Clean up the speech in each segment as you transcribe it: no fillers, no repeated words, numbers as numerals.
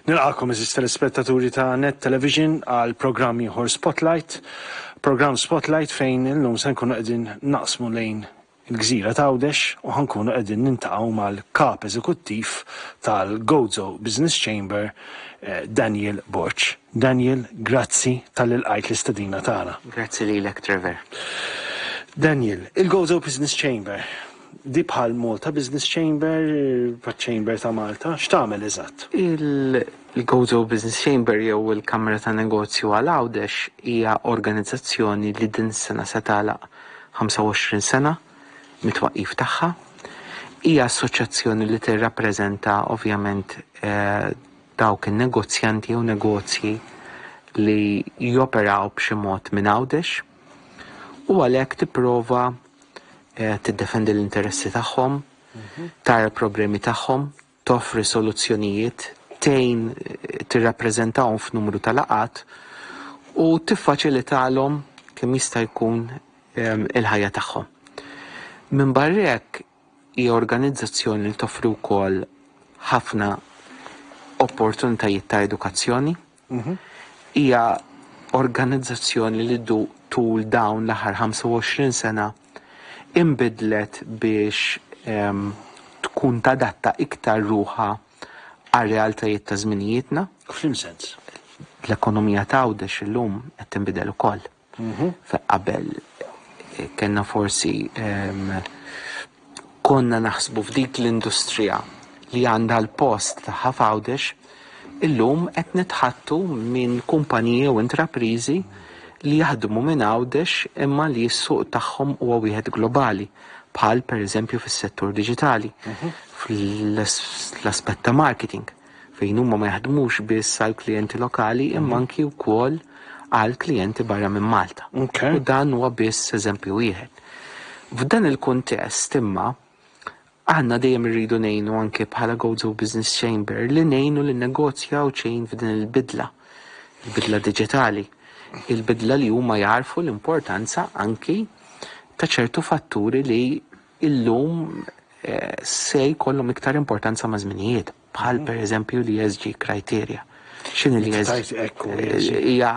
Nilqakom eżis telespettaturi ta' Net Television għal programm ieħor Spotlight. Programm Spotlight fejn illum se nkunu qegħdin naqsmu lejn il-gżira ta' Għawdex u ħankunu qegħdin nintaqgħu mal-kap eżekuttiv tal-Gozo Business Chamber, eh, Daniel Borg. Daniel, grazzi talli lqajt l-istedina tagħna. Grazzi lilek, Trevor. Daniel, il-Gozo Business Chamber, di bħal Malta Business Chamber, bħal Chamber ta' Malta, x'tagħmel eżatt? Il-Gozo Business Chamber jew il-Kamra ta' Negozju għal Għawdex hija organizzazzjoni li din is-sena se tagħlaq 25 sena mit-twaqqif tagħha. Hija assoċjazzjoni li tirrappreżenta ovvjament eh, dawk in-negozjanti jew negozji li joperaw b'xi mod minn Għawdex u għalhekk tipprova eh, tiddefendi l-interessi tagħhom, tara l-problemi tagħhom, toffri soluzzjonijiet, tgħin eh, tirrappreżentahom f'numru ta' laqgħat u tiffaċilitalhom kemm jista' jkun ehm, il-ħajja tagħhom. Minn barra hekk hija organizzazzjoni li toffri wkoll ħafna opportunitajiet ta' edukazzjoni. Hija organizzazzjoni li du tul dawn l-aħħar 25 sena inbidlet biex ehm, tkun tadatta iktar ruħha għar-realtajiet ta' żminijietna. F'liem sens? L-ekonomija ta' Għawdex illum qed tinbidel ukoll. Fe qabel eh, kellna forsi ehm, konna naħsbu f'dik l-industrija li għandha l-post tagħha f'Għawdex, illum qed nitħattu minn kumpaniji u intrapriżi li jaħdmu minn Għawdex imma li s-suq tagħhom huwa wieħed globali, bħal pereżempju fis-settur diġitali, fl-aspett ta' marketing, fejn huma ma jaħdmux biss għal klijenti lokali imma anki wkoll għal klijenti barra minn Malta. U dan huwa biss eżempju wieħed. F'dan il-kuntest imma aħna dejjem irridu ngħinu anke bħala Gozo Business Chamber li ngħinu lin negozji Għawdxin f'din il-bidla, il-bidla diġitali, il-bidla li huma jagħrfu l-importanza anki ta' ċertu fatturi li illum eh, se jkollhom iktar importanza ma' żminijiet, bħal per eżempju l-ESG criteria. X'inhi l-ESG? Eh, hija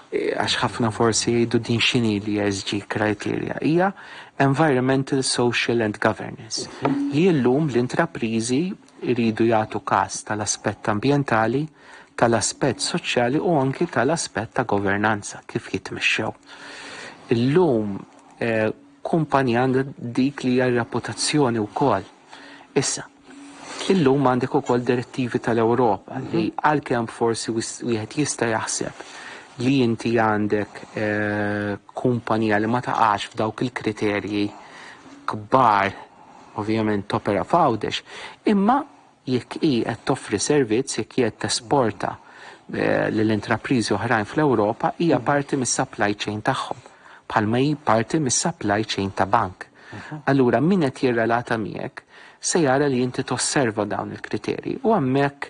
eh, għax ħafna forsi jgħidu din x'inhi l-ESG criteria. Hija Environmental, Social and Governance. Li llum l-intrapriżi jridu jagħtu każ tal-aspett ambjentali, tal-aspett soċjali u anki tal-aspett ta' governanza kif jitmexxew. Illum eh, kumpanija għandha dik li hija r-reputazzjoni wkoll. Issa, illum għandek ukoll direttivi tal-Ewropa li għalkemm forsi wieħed jista' jaħseb li inti għandek eh, kumpanija li ma taqax f'dawk il-kriterji kbar ovvjament topera f'Għawdex, imma jekk hi qed toffri servizz, jekk hi qed tesporta eh, lil intrapriżi oħrajn fl-Ewropa, hija parti mis-supply chain tagħhom, bħalma hi parti mis-supply chain ta' bank. Allura min qed jirrelata miegħek se jara li inti tosserva dawn il-kriterji u hemmhekk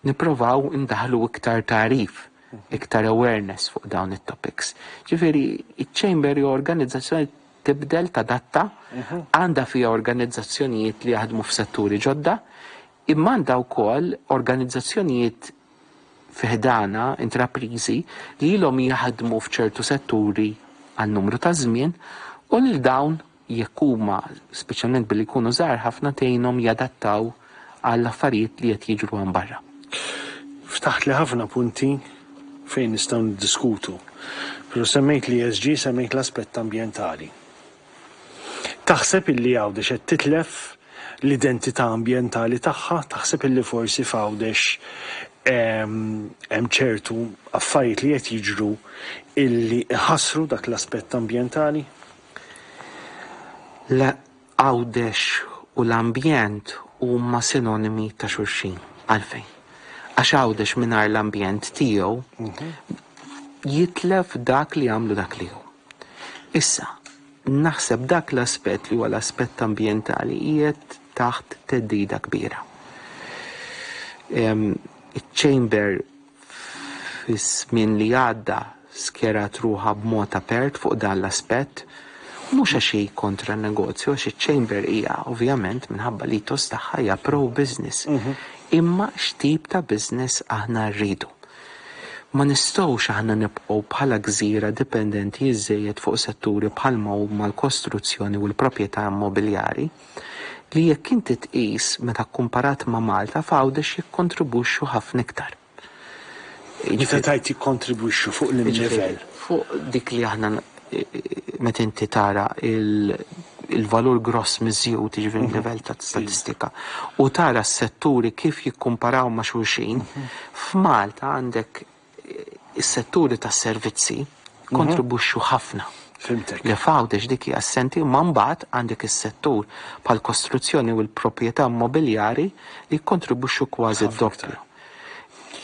nipprovaw indaħlu iktar tagħrif, iktar awareness fuq dawn it-topics. Ġifieri, iċ-Chamber hi organizzazzjoni tibdel, tadatta, għandha fiha organizzazzjonijiet li jaħdmu f'setturi ġodda, imma għandha wkoll organizzazzjonijiet fi ħdanha, intrapriżi, li ilhom jaħdmu f'ċertu setturi għal numru ta' żmien u lil dawn jekk huma, speċjalment billi jkunu żgħar ħafna, tgħinhom jadattaw għall-affarijiet li qed jiġru hemm barra. Ftaħtli ħafna punti fejn nistgħu niddiskutu. Però semmejt l-ESG, semmejt l-aspett ambjentali. Taħseb illi Għawdex qed titlef l-identità ambjentali tagħha? Taħseb illi forsi f'Għawdex hemm ċertu affarijiet li qed jiġru illi iħassru dak l-aspett ambjentali? Le, Għawdex u l-ambjent huma sinonimi ta' xulxin. Għalfejn? Għax Għawdex mingħajr l-ambjent tiegħu jitlef dak li jagħmlu dak li hu. Issa, naħseb dak l-aspett li huwa l-aspett ambjentali qiegħed taħt theddida kbira. Iċ-Chamber fiż-żmien li għadda skjerat ruħha b'mod apert fuq dan l-aspett, mhux għax hi kontra n-negozju, għax iċ-Chamber hija ovvjament minħabba l-ethos tagħha hija pro-business. Imma x'tip ta' business aħna rridu? Ma nistgħux aħna nibqgħu bħala gżira dipendenti iżżejjed fuq setturi bħalma huma l-kostruzzjoni u l-proprjetà immobiljari, li jekk inti tqis meta kkumparat ma' Malta f'Għawdex jikkontribwixxu ħafna iktar. Meta tgħid jikkontribwixxu fuq liem livell? Fuq dik li aħna meta inti tara il-valur gross miżjud, jiġifieri livell ta' statistika, u tara s-setturi kif jikkumparaw ma' xulxin, f'Malta għandek is-setturi tas-servizzi kontribwixxu ħafna. Fhimtek. Li f'Għawdex dik hija assenti, imma mbagħad għandek is-settur bħall-kostruzzjoni u l-proprjetà immobiljari li jikkontribwixxu kważi d-doppju.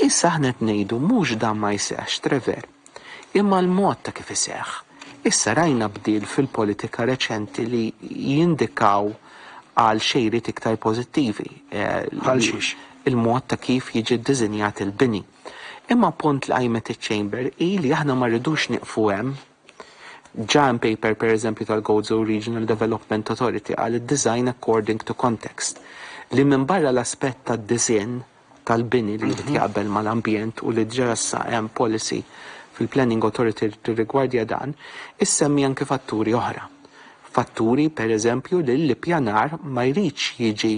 Issa aħna qed ngħidu mhux dan ma jseħħx, Trevor, imma l-mod ta' kif iseħħ. Issa rajna bdil fil-politika reċenti li jindikaw għal xejriet iktar pożittivi. Bħal xiex? Il-mod ta' kif jiġi ddisinjat il-bini. Imma punt li qajmet iċ-Chamber hi li aħna ma rridux nieqfu hemm. Ġa hemm paper pereżempju tal-Gozo Regional Development Authority qal id-design according to context li minbarra l-aspett tad-disinn tal-bini li jrid jaqbel mal-ambjent u li diġà issa hemm policy fil-Planning Authority li tirrigwardja dan, issemmi anki fatturi oħra. Fatturi, per eżempju, li l-ippjanar ma jridx jiġi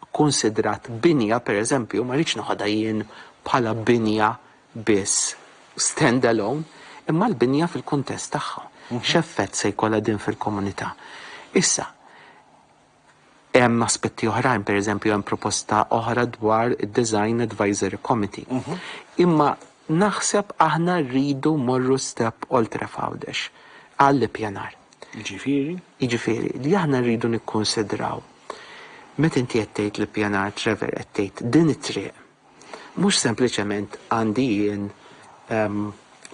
kkunsidrat binja, per eżempju, ma rridx noħodha jien bħala binja biss stand alone, imma l-binja fil-kuntest tagħha. X'effett se jkollha din fil-komunità? Issa, Hemm aspetti oħrajn, pereżempju hemm proposta oħra dwar id-Design Advisory Committee. Imma naħseb aħna rridu mmorru step oltre f'Għawdex għall-ippjanar. Jiġifieri? Jiġifieri li aħna rridu nikkunsidraw meta inti qed tgħid l-ippjanar Trevor qed tgħid din it-triq Mhux sempliċement għandi jien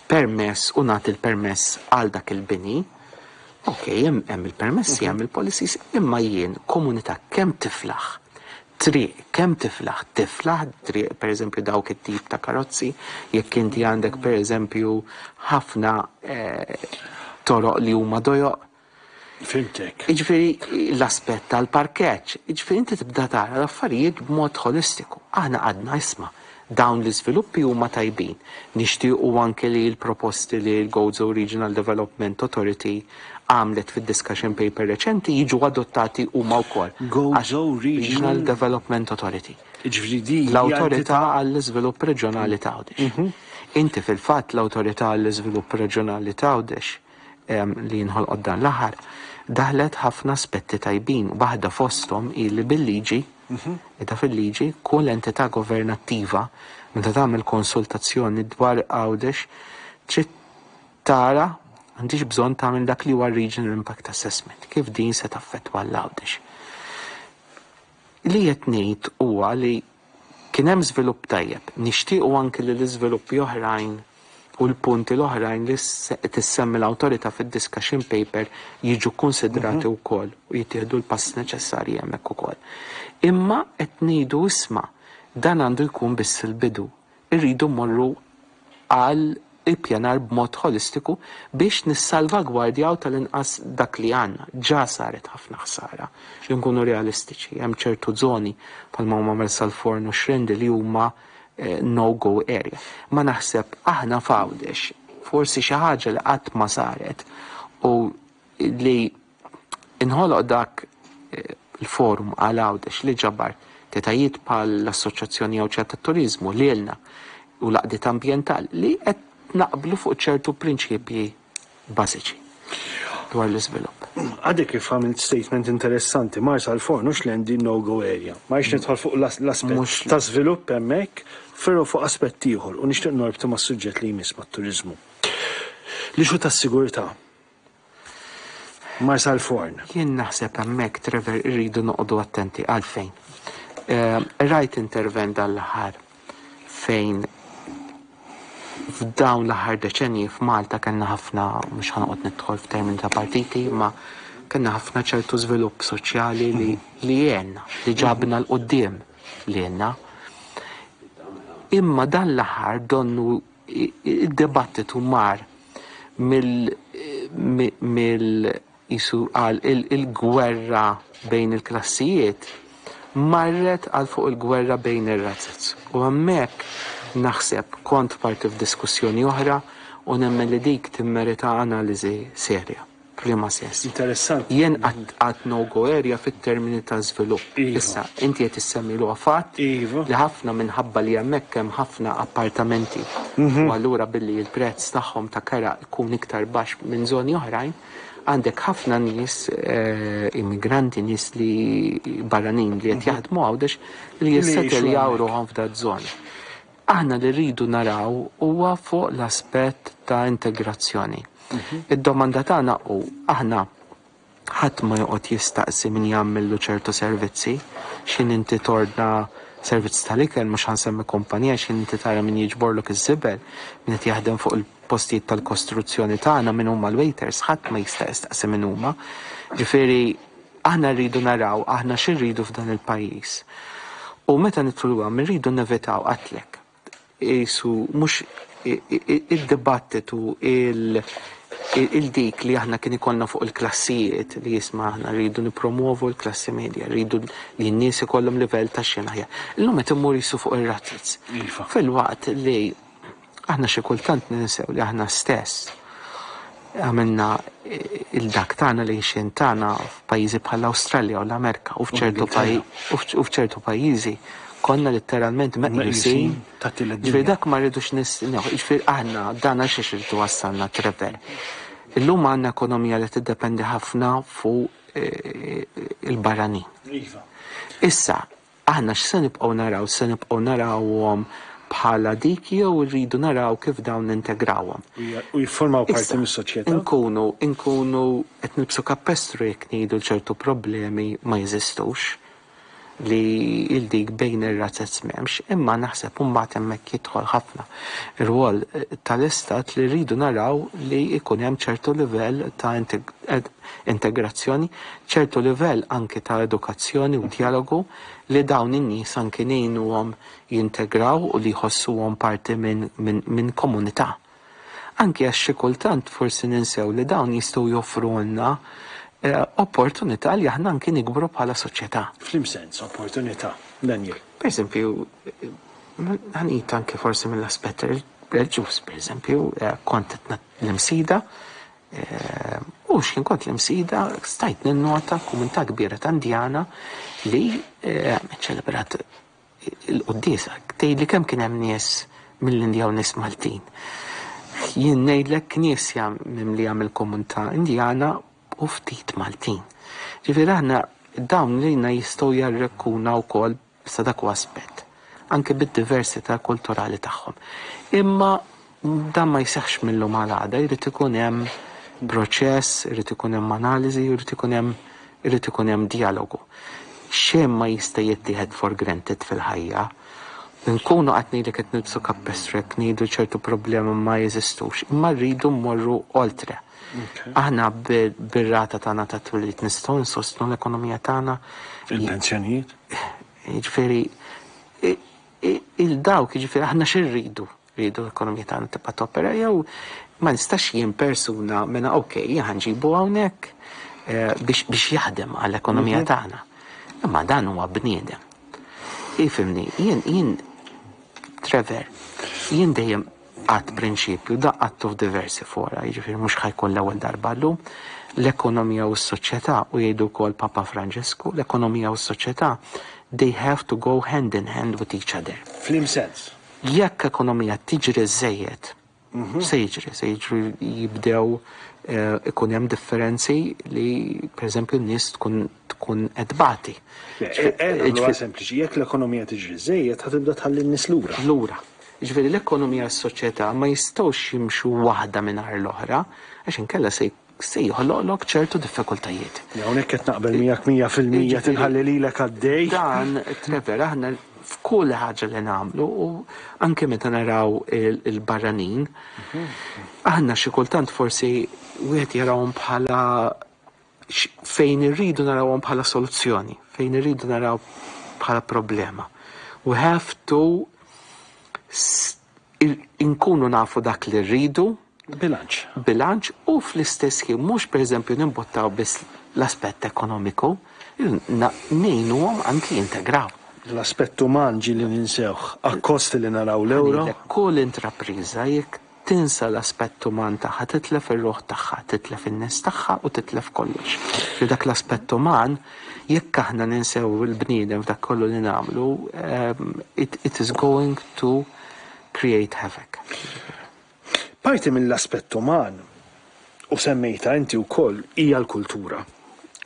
permess u nagħti l-permess għal dak il-bini. Ok, hemm il-permessi, hemm il-policies, imma jien komunità kemm tiflaħ triq kemm tiflaħ tiflaħ triq pereżempju dawk it-tip ta' karozzi, jekk inti għandek pereżempju ħafna eh, toroq li huma dojoq, Fhimtek. Jiġifieri l-aspett tal-parkeġġ, jiġifieri inti tibda tara l-affarijiet b'mod ħolistiku. Aħna għadna isma' dawn l-iżviluppi huma tajbin. Nixtiequ anke li l-proposti li l-Gozo Regional Development Authority għamlet fid-discussion paper reċenti jiġu adottati huma wkoll. Gozo Regional Development Authority. Jiġifieri din L-Awtorità għall-Iżvilupp Reġjonali t'Għawdex. Inti fil-fatt l-Awtorità għall-Iżvilupp Reġjonali t'Għawdex li nħolqot dan l-aħħar, daħlet ħafna aspetti tajbin. Waħda fosthom hi li bil-liġi, qiegħda fil-liġi, kull entità governattiva meta tagħmel konsultazzjoni dwar Għawdex trid tara għandhiex bżonn tagħmel dak li huwa Regional Impact Assessment, kif din se taffettwa 'l Għawdex. Li qed ngħid huwa li kien hemm żvilupp tajjeb. Nixtiequ anki li l-iżviluppi oħrajn u l-punti l-oħrajn li qed issemmi l-awtorità fid-discussion paper jiġu kkunsidrati wkoll u jittieħdu l-passi neċessarji hemmhekk ukoll. Imma qed ngħidu isma' dan għandu jkun biss il-bidu. Irridu mmorru għal ippjanar b'mod ħolistiku biex nissalvagwardjaw tal-inqas dak li għandna. Ġa saret ħafna ħsara, li nkunu realistiċi. Hemm ċertu żoni bħalma huma Marsalforn u Xrendi li huma no-go area. Ma naħseb aħna f'Għawdex forsi xi ħaġa li qatt ma saret u li inħoloq dak il-forum għal Għawdex li ġabar entitajiet bħal l-Assoċjazzjoni Għawdxija tat-Turiżmu, lilna u l-għaqdiet ambjentali li qed naqblu fuq ċertu prinċipji bażiċi dwar l-iżvilupp. Għadek kif għamilt statement interessanti, Marsalforn hux l-endi no-go area. Ma rridx nidħol fuq l-aspett ta' żvilupp hemmhekk, però fuq aspett ieħor u nixtieq norbtu mas-suġġett li jmiss mat-turiżmu. L-issue tas-sigurtà. Marsalforn. Jien naħseb hemmhekk, Trevor, irridu noqogħdu attenti. Għalfejn? Rajt intervent dan l-aħħar fejn f'dawn l-aħħar deċenji f'Malta kellna ħafna, mhux ħa noqgħod nidħol f'termini ta' partiti, imma kellna ħafna ċertu żvilupp soċjali li li għenna, li ġabna 'l quddiem lilna. Imma dan l-aħħar donnu id-dibattitu mar mill mill qisu għal il-gwerra bejn il-klassijiet Marret għal fuq il-gwerra bejn ir-razez. U hemmhekk naħseb kont parti f'diskussjoni oħra u nemmen li dik timmerita analiżi serja. F'liema sens? Interessanti. Jien għad no-go area fit-termini ta' żvilupp. Issa, inti qed issemmi huwa fatt li ħafna minħabba li hemmhekk hemm ħafna appartamenti u allura billi l-prezz tagħhom ta' kera jkun iktar baxx minn żoni oħrajn, għandek ħafna nies immigranti, nies li barranin li qed jaħdmu Għawdex li jissetteljaw ruħhom f'da żona. Aħna li rridu naraw huwa fuq l-aspett ta' integrazzjoni. Id-domanda tagħna hu aħna ħadd ma joqgħod jistaqsi min jagħmillu ċertu servizzi, x'ħin inti tordna servizz tal-ikel mhux ħa nsemmi kumpanija, x'ħin inti tara min jiġborlok iż-żibel, min qed jaħdem fuq il-postijiet tal-kostruzzjoni tagħna, min huma l-waiters, ħadd ma jista' jistaqsi min huma. Ġifieri aħna rridu naraw aħna x'irridu f'dan il-pajjiż. U meta nidħlu hemm irridu nevitaw għedtlek. Qisu mhux id-dibattitu il-dik li aħna kien ikollna fuq il-klassijiet li jisma' aħna rridu nippromovu l-klassi medja, rridu li n-nies ikollhom livell ta' xejn aħjar. Illum qed immur qisu fuq ir-razzez. Filwaqt li aħna xi kultant ninsew li aħna stess għamilna il-dak tagħna li xin tagħna f'pajjiżi bħall-Awstralja u l-Amerika u f'ċertu pajjiżi konna letteralment meqjusin. Ġifieri dak ma rridux ġifieri aħna dan għax irridu wassalna Trevor. Illum għandna ekonomija li tiddependi ħafna fuq il-barranin. Issa, aħna x'se nibqgħu naraw? Se nibqgħu narawhom bħala dik jew rridu naraw kif dawn nintegrawhom. U jiffurmaw parti mis-soċjetà. Inkunu qed nilbsu kappestru jekk ngħidu ċertu problemi ma jeżistux li il-dik bejn ir-razzez m'hemmx, imma naħseb imbagħad hemmhekk jidħol ħafna ir-rwol tal-istat li rridu naraw li jkun hemm ċertu livell ta' integrazzjoni, ċertu livell anki ta' edukazzjoni u dialogu li dawn in-nies anki ngħinuhom jintegraw u li jħossuhom parti minn min, min komunità. Anki għax xi kultant forsi ninsew li dawn jistgħu joffrulna opportunità li aħna anki nikbru bħala soċjetà. F'liema sens opportunità, Daniel? Per eżempju, ħa ngħid anke forsi mill-aspett reliġjuż, per eżempju, kont l-Imsida, u x'kien kont l-Imsida stajt ninnota komunità kbira ta' Indjana li ċelebrat il-quddiesa. Tgħidli kemm kien hemm nies mill-Indja u nies Maltin. Jien ngħidlek knisja mimlija mill-komunità Indjana u ftit Maltin. Ġifieri aħna dawn lejna jistgħu jarrekkuna wkoll sa dak aspett, anke bid-diversità kulturali tagħhom. Imma dan ma jseħħx mil-lum għal għada, jrid ikun hemm proċess, irid ikun hemm analiżi, irid ikun hemm dialogu. Xejn ma jista' jittieħed for granted fil-ħajja. Nkunu qed ngħidlek qed nilbsu kappestru jekk ngħidu ċertu problemi ma jeżistux, imma rridu mmorru oltre. Aħna bir-rata tagħna ta' twelid nistgħu nsostnu l-ekonomija tagħna. Il-pensjonijiet? Jiġifieri il-dawk, jiġifieri aħna x'irridu? Rridu l-ekonomija tagħna tibqa' topera jew ma nistax jien persuna mena ok, ħa nġibu hawnhekk biex jaħdem għall-ekonomija tagħna. Imma dan huwa bniedem. Ifhimni, jien Trevor, jien dejjem għedt prinċipju, da għedtu f'diversi fora, jiġifieri mhux ħa jkun l-ewwel darba llum, l-ekonomija u s-soċjetà, u jgħidu wkoll Papa Franġisku, l-ekonomija u s-soċjetà, they have to go hand in hand with each other. F'liema sens? Jekk ekonomija tiġri żejjed, se jiġri, se jiġri jibdew ikun hemm differenzi li pereżempju n-nies tkun qed tbati. Huwa sempliċi, jekk l-ekonomija tiġri żejjed ħa tibda tħalli n-nies lura. Lura. Ġifieri l-ekonomija u s-soċjetà ma jistgħux jimxu waħda mingħajr l-oħra, għax inkella se joħloqlok ċertu diffikultajiet. Hawnhekk qed naqbel miegħek 100% tinħalli lilek għaddej. Dan, Trevor, aħna f'kull ħaġa li nagħmlu u anke meta naraw il-barranin, aħna xi kultant forsi wieħed jarawhom bħala fejn irridu narawhom bħala soluzzjoni, fejn irridu naraw bħala problema. We have to inkunu nafu dak li rridu. Bilanċ. Bilanċ u fl-istess ħin mhux pereżempju nimbottaw biss l-aspett ekonomiku. Ngħinuhom anki jintegraw. L-aspett uman ġieli ninsewh, akkost li naraw l-ewro. Kull intrapriża jekk tinsa l-aspett uman tagħha, titlef ir-ruħ tagħha, titlef in-nies tagħha u titlef kollox. Li dak l-aspett uman, jekk aħna ninsew il-bniedem f'dak kollu li nagħmlu, it, it is going to create havoc. Parti mill-aspett uman, u semmejtha inti wkoll, hija l-kultura.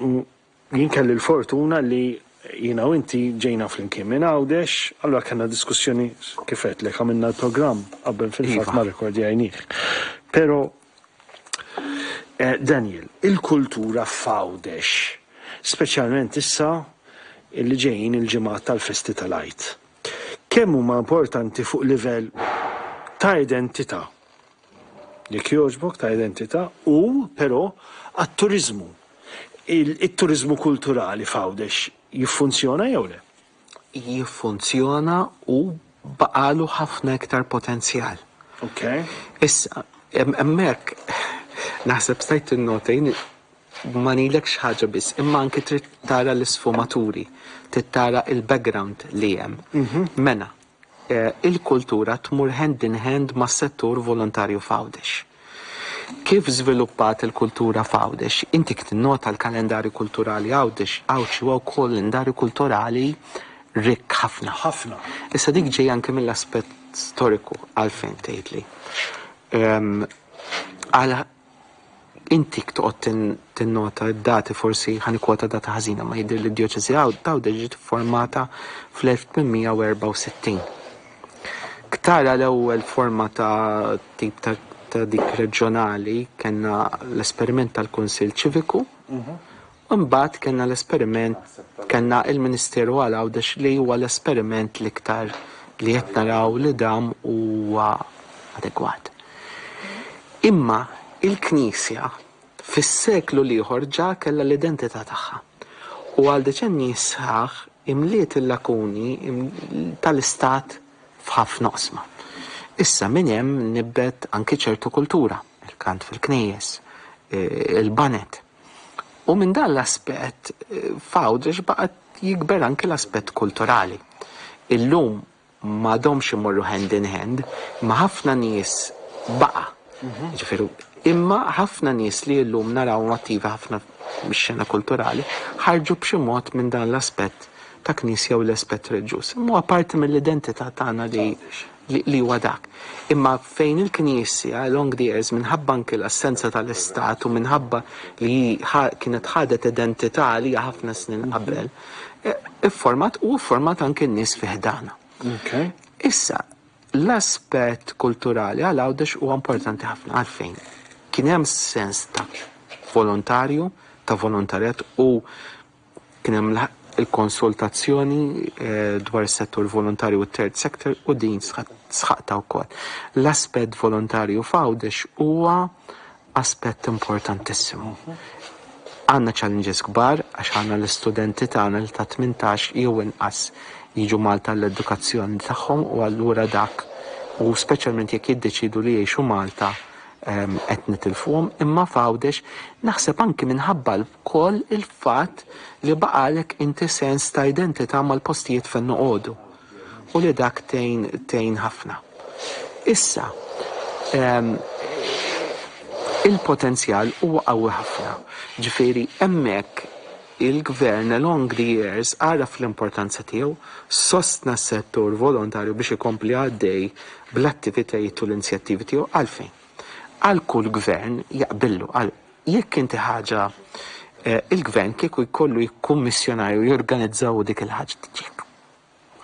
U Jien kelli l-fortuna li jiena u inti ġejna flimkien minn Għawdex, allura kellna diskussjoni kif għedtlek għamilna l-programm qabel fil-fatt ma rrekordjajnih. Però Daniel, il-kultura f'Għawdex, speċjalment issa li ġejjin il-ġimgħat tal-festi tal-Għid, kemm huma importanti fuq livell ta' identità? Jekk jogħġbok ta' identità u però għat-turiżmu. It-turiżmu kulturali f'Għawdex jiffunzjona jew le? Jiffunzjona u baqagħlu ħafna iktar potenzjal. Ok. Issa, hemmhekk naħseb stajt tinnota jien ma ngħidlekx ħaġa biss, imma anki trid tara l-isfumaturi, trid tara il-background li hemm. Mela, Il-kultura tmur hand in hand mas-settur volontarju f'Għawdex. Kif żviluppat il-kultura f'Għawdex? Inti tinnota l-kalendarju kulturali Għawdex, Għawdxi huwa wkoll kalendarju kulturali rikk ħafna. Ħafna. Issa dik ġejja anke mill-aspett storiku għalfejn tgħidli. Għal Inti toqgħod tinnota d-dati forsi ħa nikkwota data ħażina ma jidhir li d-djoċesi t'Għawdex ġiet iffurmata fl-1864. Ktara l-ewwel forma ta' tip ta' dik reġjonali kellna l-esperiment tal-Kunsill Ċiviku u mbagħad kellna l-esperiment kellna il-Ministeru għal Għawdex li huwa l-esperiment l-iktar li qed naraw li dam huwa adegwat. Imma il-Knisja fis-seklu l-ieħor ġa kellha l-identità tagħha u għal deċennji sħaħ imliet il-lakuni tal-istat f'ħafna oqsma. Issa minn hemm nibet anki ċertu kultura, il-kant fil-knejjes, il-baned. U minn dan l-aspett f'Għawdex baqgħet jikber anki l-aspett kulturali. Illum m'għadhomx imorru hand in hand, imma ħafna nies baqa'. Ġifieri, imma ħafna nies li llum narawhom attivi ħafna mix-xena kulturali ħarġu b'xi mod minn dan l-aspett ta' knisja u l-aspett reliġjuż. Imma huwa parti mill-identità tagħna li li huwa dak. Imma fejn il-Knisja along the years minħabba anki l-assenza tal-Istat u minħabba li kienet ħadet identità għalija ħafna snin qabel, Ifformat u fformat anki n-nies fi ħdana. Issa, l-aspett kulturali għal Għawdex huwa importanti ħafna għalfejn. Kien hemm sens ta' volontarju, ta' volontarjat u kien hemm il-konsultazzjoni eh, dwar is-settur volontarju u third sector u din sħaqta wkoll. L-aspett volontarju f'Għawdex huwa aspett importantissimu. Għandna challenges kbar għax għandna l-istudenti tagħna li ta' 18 jew inqas jiġu Malta l-edukazzjoni tagħhom u allura dak u speċjalment jekk jiddeċidu li jgħixu Malta ehm, qed nitilfuhom imma f'Għawdex naħseb anki minħabba wkoll il-fatt li baqalek inti sens ta' identità mal-postijiet fejn noqogħdu u li dak tgħin tgħin ħafna. Issa, ehm, il-potenzjal huwa qawwi ħafna. Ġifieri hemmhekk il-gvern along the years għaraf l-importanza tiegħu, sostna s-settur volontarju biex ikompli għaddej bl-attivitajiet u l-inizjattivi tiegħu għalfejn. Għal kull gvern jaqbillu għal jekk inti ħaġa eh, il-gvern kieku jkollu jikkummissjonar u jorganizzaw dik il-ħaġa tiġi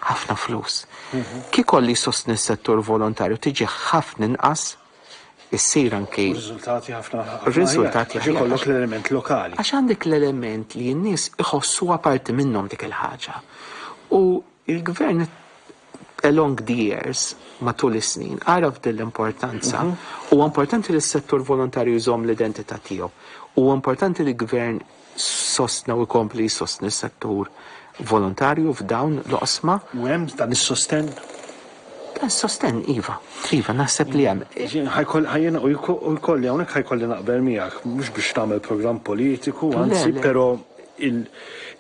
ħafna flus. Kieku kolli jsostni s-settur volontarju tiġi ħafna inqas issir anki. Riżultati ħafna. Riżultati ħafna. Ikollok l-element lokali. Għax għandek l-element li n-nies iħossuha parti minnhom dik il-ħaġa. U il-gvern along the years, matul is-snin, għaraf din l-importanza. Huwa importanti li s-settur volontarju jżomm l-identità tiegħu. Huwa importanti li l-gvern sostna u jkompli jsostni s-settur volontarju f'dawn l-oqsma. U hemm dan is-sostenn? Dan is-sostenn, iva. Iva, naħseb li hemm. Ħajjena u jkolli hawnhekk ħajkolli naqbel miegħek, mhux biex nagħmel programm politiku, anzi, però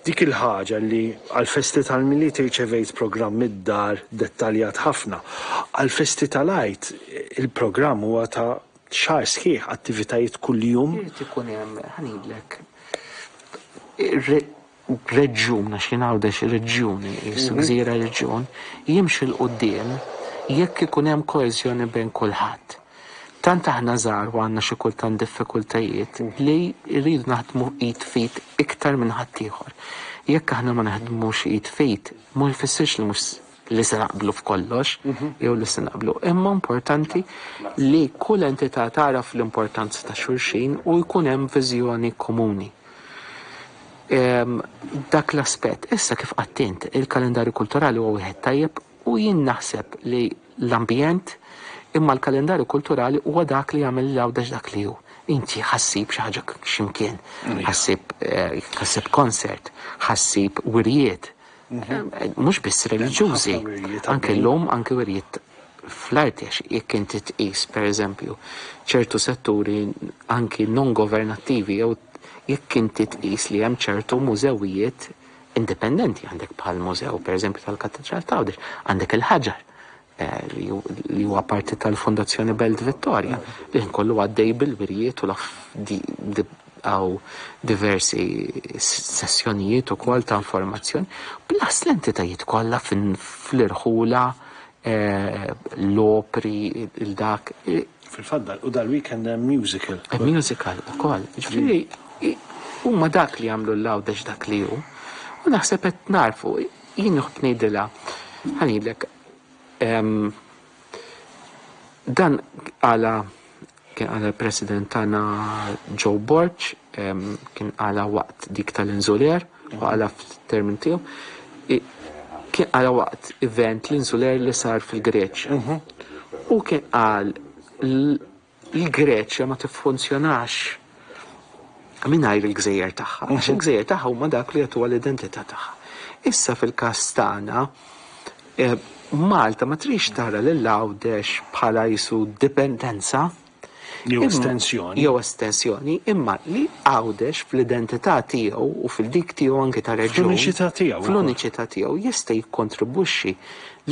Dik il-ħaġa li għall-festi tal-Milied irċevejt programm mid-dar dettaljat ħafna. Għall-festi tal-Għid il-programm huwa ta' xahar sħiħ, attivitajiet kuljum. Irid ikun hemm, ħa ngħidlek, reġjun, għax jien Għawdex reġjun, qisu gżira reġjun, jimxi 'l quddiem jekk ikun hemm koeżjoni bejn kulħadd. Tant aħna żgħar u għandna xi kultant diffikultajiet li rridu naħdmu id f'id iktar minn ħaddieħor. Jekk aħna ma naħdmux id f'id, ma jfissirx li mhux li se naqblu f'kollox jew li se naqblu, imma importanti li kull entità tagħraf l-importanza ta' xulxin u jkun hemm viżjoni komuni. Dak l-aspett. Issa kif qatt int, il-kalendarju kulturali huwa wieħed tajjeb u jien naħseb li l-ambjent imma l-kalendarju kulturali huwa dak li jagħmel lil Għawdex dak li hu. Inti ħa ssib xi ħaġa x'imkien, ħa ssib ħa ssib concert, ħa ssib wirjiet, mhux biss reliġjużi, anke llum anke wirjiet fl-arti għax jekk inti tqis pereżempju ċertu setturi anki non governattivi jew jekk inti tqis li hemm ċertu mużewijiet indipendenti għandek bħal mużew pereżempju tal-Katedral t'Għawdex, għandek il-ħaġar eh, li huwa parti tal-Fondazzjoni Belt Vittoria li kollu għaddej bil-wirjiet u għaw diversi sessjonijiet ukoll ta' informazzjoni plus l-entitajiet kollha fl-irħula eh, l-opri il-dak. Fil-fatt u dal-weekend hemm musical. Musical ukoll. Ġifieri huma dak li jagħmlu l-Għawdex dak li hu. U naħseb qed narfu, jien nħobb ngħidilha, ħa ngħidlek, dan għala kien għala l-President tagħna Joe Borg, kien għala waqt dik tal-Insular, u għala f'termin tiegħu, kien għala waqt event l-Insular li sar fil-Greċja. U kien qal l-Greċja ma tiffunzjonax mingħajr il-gżejjer tagħha, għax il-gżejjer tagħha huma dak li jagħtuha l-identità tagħha. Issa fil-każ tagħna, eh, Malta ma trix tara lil Għawdex bħala jisu dipendenza Jew estensjoni. Jew estensjoni, imma li Għawdex fl-identità tiegħu u fil-dik tiegħu anke ta' reġjun. Fl-uniċità tiegħu. Fl-uniċità tiegħu jista' jikkontribwixxi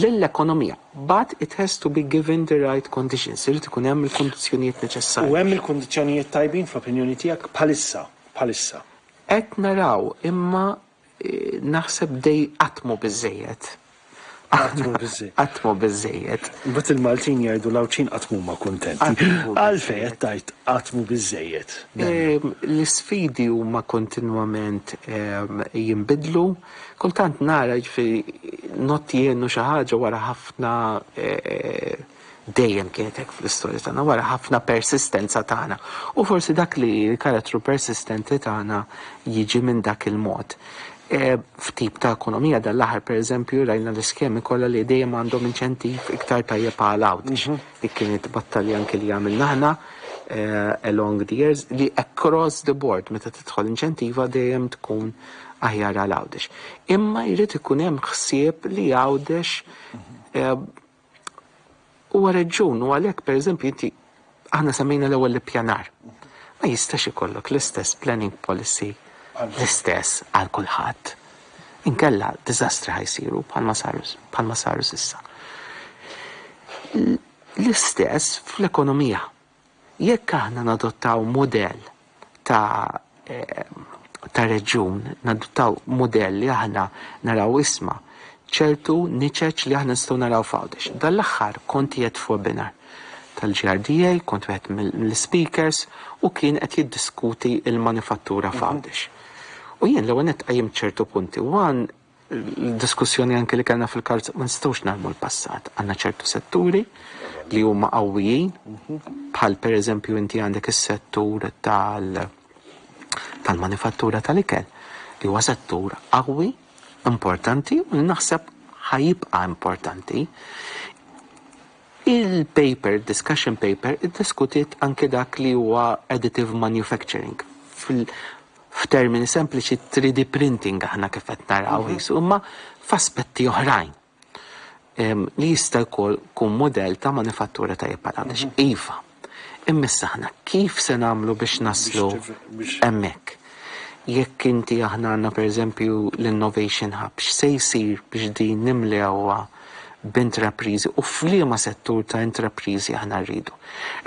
lill-ekonomija. But it has to be given the right conditions. Irid ikun hemm il-kondizzjonijiet neċessarji. U hemm il-kondizzjonijiet tajbin fl-opinjoni tiegħek bħalissa, bħalissa. Qed naraw imma eh, naħseb dej qatt mhu biżejjed. Qatt mhu biżejjed. Qatt mhu biżejjed. Mbagħad il-Maltin jgħidu l-Għawdxin qatt m'huma kuntenti. Għalfejn qed tgħid qatt mhu biżejjed? L-isfidi huma kontinwament jinbidlu. Kultant nara jiġifieri nottienu xi ħaġa wara ħafna eh, dejjem kienet hekk fl-istorja tagħna, wara ħafna persistenza tagħna. U forsi dak li l-karattru persistenti tagħna jiġi minn dak il-mod. E, f'tip ta' ekonomija dal-aħħar pereżempju rajna l-iskemi kollha li dejjem għandhom inċentiv iktar tajjeb għal Għawdex. Mhm. Dik kienet battalja anke li għamilna aħna e, along the years li across the board meta tidħol inċentiva dejjem tkun aħjar għal Għawdex. Imma jrid ikun hemm ħsieb li Għawdex e, Huwa reġjun u għalhekk pereżempju inti aħna semmejna l-ewwel l-ippjanar. Ma jistax ikollok l-istess planning policy l-istess għal kulħadd. Inkella diżastri ħa jsiru bħalma saru bħalma saru s'issa. L-istess fl-ekonomija. Jekk aħna nadottaw mudell ta' ta' reġjun, nadottaw mudell li aħna naraw isma' ċertu niċeċ li aħna nistgħu naraw f'Għawdex. Dan l-aħħar kont qiegħed f'webinar tal-GRDA, kont wieħed mill-speakers u kien qed jiddiskuti l-manifattura f'Għawdex. U jien l-ewwel nett qajjimt ċertu punti. One, L-diskussjoni anke li kellna fil-karozza ma nistgħux narmu l-passat. Għandna ċertu setturi li huma qawwijin, bħal pereżempju inti għandek is-settur tal tal-manifattura tal-ikel, li huwa settur qawwi, importanti u li naħseb ħajibqa' importanti. Il-paper, discussion paper, iddiskutiet anke dak li huwa additive manufacturing. F'termini sempliċi 3D printing aħna kif qed naraw mhm. qisu, imma f'aspetti oħrajn li jista' jkun kun mudell ta' manifattura tajjeb għal għawdex. Mhm. Iva, imma issa aħna kif se nagħmlu biex naslu hemmhekk? Jekk inti aħna għandna pereżempju l-Innovation Hub, x'se jsir biex din nimlewha b'intrapriżi u f'liema settur ta' intrapriżi aħna rridu.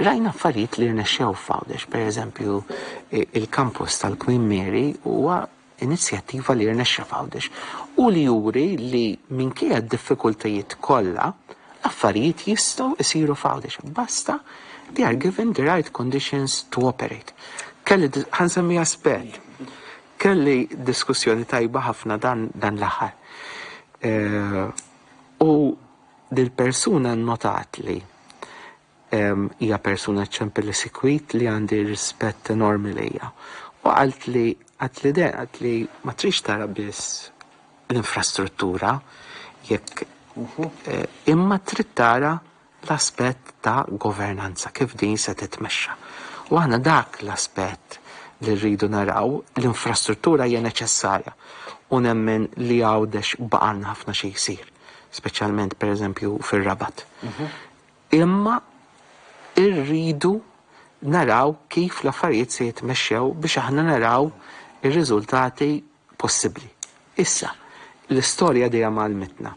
Rajna affarijiet li rnexxew f'Għawdex, pereżempju il-campus tal-Queen Mary huwa inizjattiva li rnexxa f'Għawdex u li juri li minkejja d-diffikultajiet kollha, l-affarijiet jistgħu jsiru f'Għawdex. Basta they are given the right conditions to operate. Kelli, ħa nsemmi aspett, kelli diskussjoni tajba ħafna dan, dan l-aħħar. Eh, u dil-persuna nnotat li hija persuna ċempel li sikwit li għandi rispett enormi lejha. U qalt li għat li de, għat li ma trix tara biss l-infrastruttura jekk eh, imma trid tara l-aspett ta' governanza kif din se titmexxa. U aħna dak l-aspett li rridu naraw, l-infrastruttura hija neċessarja u nemmen li Għawdex baqalna ħafna xi jsir, speċjalment pereżempju fir-Rabat. Imma rridu naraw kif l-affarijiet se jitmexxew biex aħna naraw ir-riżultati possibbli. Issa, l-istorja dejjem għallmitna.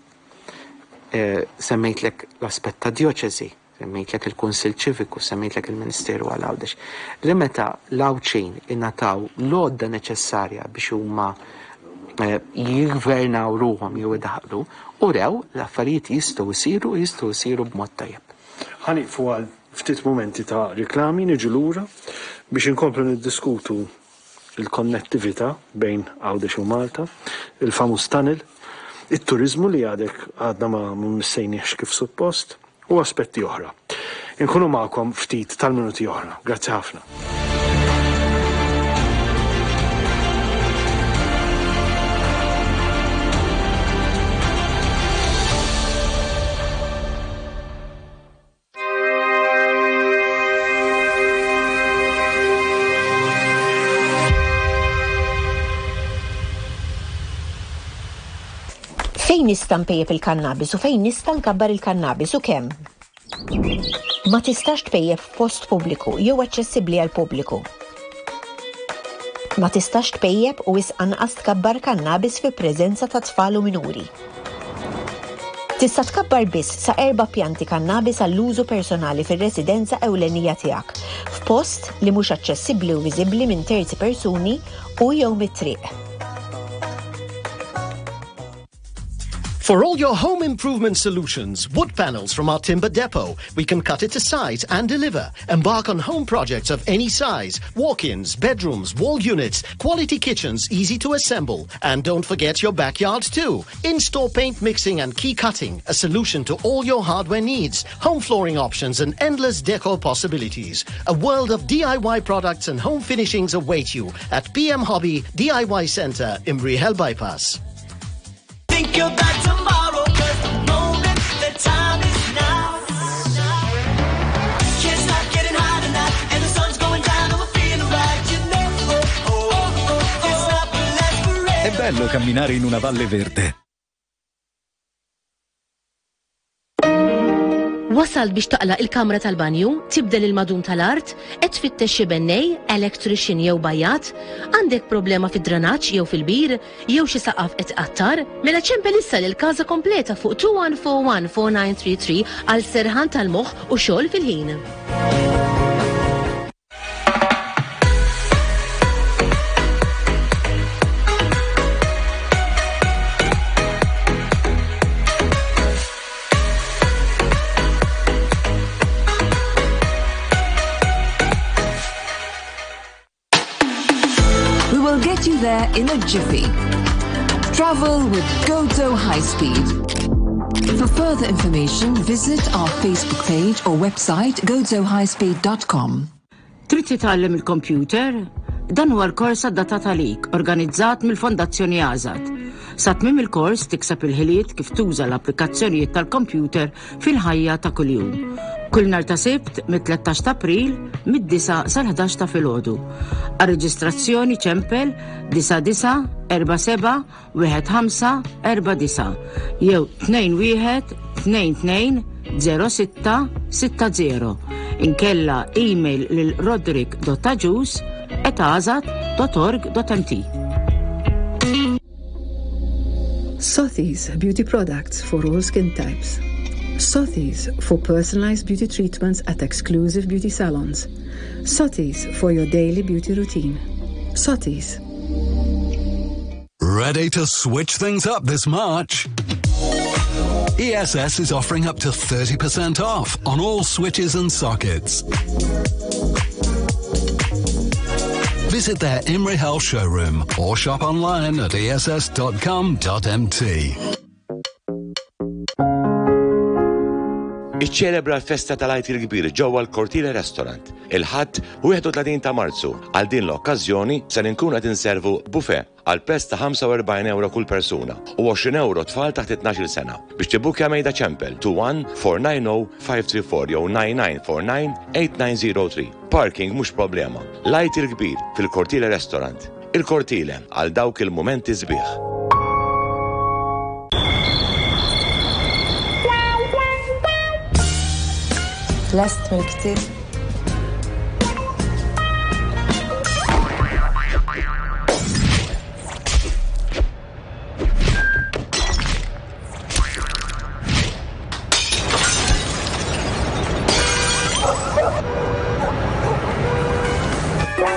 Semmejtlek l-aspett ta' djoċesi, semmejtlek il-Kunsill Ċiviku, semmejtlek il-Ministeru għal Għawdex. Li meta l-Għawdxin ingħataw l-għodda neċessarja biex huma jiggvernaw ruħhom jew idaħħlu, urew l-affarijiet jistgħu jsiru u jistgħu jsiru b'mod tajjeb. Ħa nieqfu għal ftit mumenti ta' riklami, niġu lura biex inkomplu niddiskutu l-konnettività bejn Għawdex u Malta, il-famuż tunnel, it-turiżmu li għadek għadna ma missejniehx kif suppost u aspetti oħra. Inkunu magħkom ftit tal-minuti oħra. Grazzi ħafna. Fejn nista' npejjep il-kannabis u fejn nista' nkabbar il-kannabis u kemm? Ma tistax tpejjep f'post pubbliku jew aċċessibbli għall-pubbliku. Ma tistax tpejjep u wisq anqas tkabbar kannabis fi preżenza ta' tfal u minuri. Tista' tkabbar biss sa erba' pjanti kannabis għall-użu personali fir-residenza ewlenija tiegħek, f'post li mhux aċċessibbli u viżibbli minn terzi persuni u jew mit-triq. For all your home improvement solutions, wood panels from our timber depot, we can cut it to size and deliver. Embark on home projects of any size, walk-ins, bedrooms, wall units, quality kitchens easy to assemble. And don't forget your backyard too. In-store paint mixing and key cutting, a solution to all your hardware needs, home flooring options and endless decor possibilities. A world of DIY products and home finishings await you at PM Hobby DIY Center in Rahel Bypass. Think about tomorrow, cause the moment, the time is now. Can't stop getting high tonight, and the sun's going down and we're feeling right, you know. Oh, oh, oh, this love will last forever. È bello camminare in una valle verde. Wasalt biex taqla' il-kamra tal-banju, tibdel il-madum tal-art, qed tfittex xi bennej, electrician jew bajjat, għandek problema fid-dranaġġ jew fil-bir, jew xi saqaf qed iqattar? Mela ċempel issa lil Casa Completa fuq 2141 4933 għal serħan tal-moħħ u xogħol fil-ħin. We will get you there in a jiffy. Travel with Gozo High Speed. For further information, visit our Facebook page or website gozohighspeed.com. Trid titgħallem il-kompjuter? Dan huwa l-kors adattat għalik, organizzat mill-Fondazzjoni Azad. Sa tmiem il-kors tikseb il-ħiliet kif tuża l-applikazzjonijiet tal-kompjuter fil-ħajja ta' kuljum. Kull nhar ta' Sibt mit-13 ta' April mid-9 sal-11 ta' filgħodu. Għar-reġistrazzjoni ċempel 99 47 1549 jew 21 22 06 60 inkella email lil roderick.agius at. www.azad.org.mt. Sotheby's Beauty Products for all skin types. Sotheby's for personalized beauty treatments at exclusive beauty salons. Sotheby's for your daily beauty routine. Sotheby's. Ready to switch things up this March? ESS is offering up to 30% off on all switches and sockets. Visit their Imrihel showroom or shop online at ess.com.mt. Iċċelebra l-festa tal-Għid il-Kbir ġewwa l-Cortile Restaurant il-Ħadd 31 ta' Marzu. Għal din l-okkażjoni ser inkunu qed inservu buffet għal prezz ta' 45 ewro kull persuna u 20 ewro tfal taħt it-tnax-il sena. Biex tibbukkja mejda ċempel 21 490 534 jew 9949 8903. Parking mhux problema. L-Għid il-Kbir fil-Cortile Restaurant. Il-Cortile, għal dawk il-mumenti sbieħ. Lest mill-ktieb?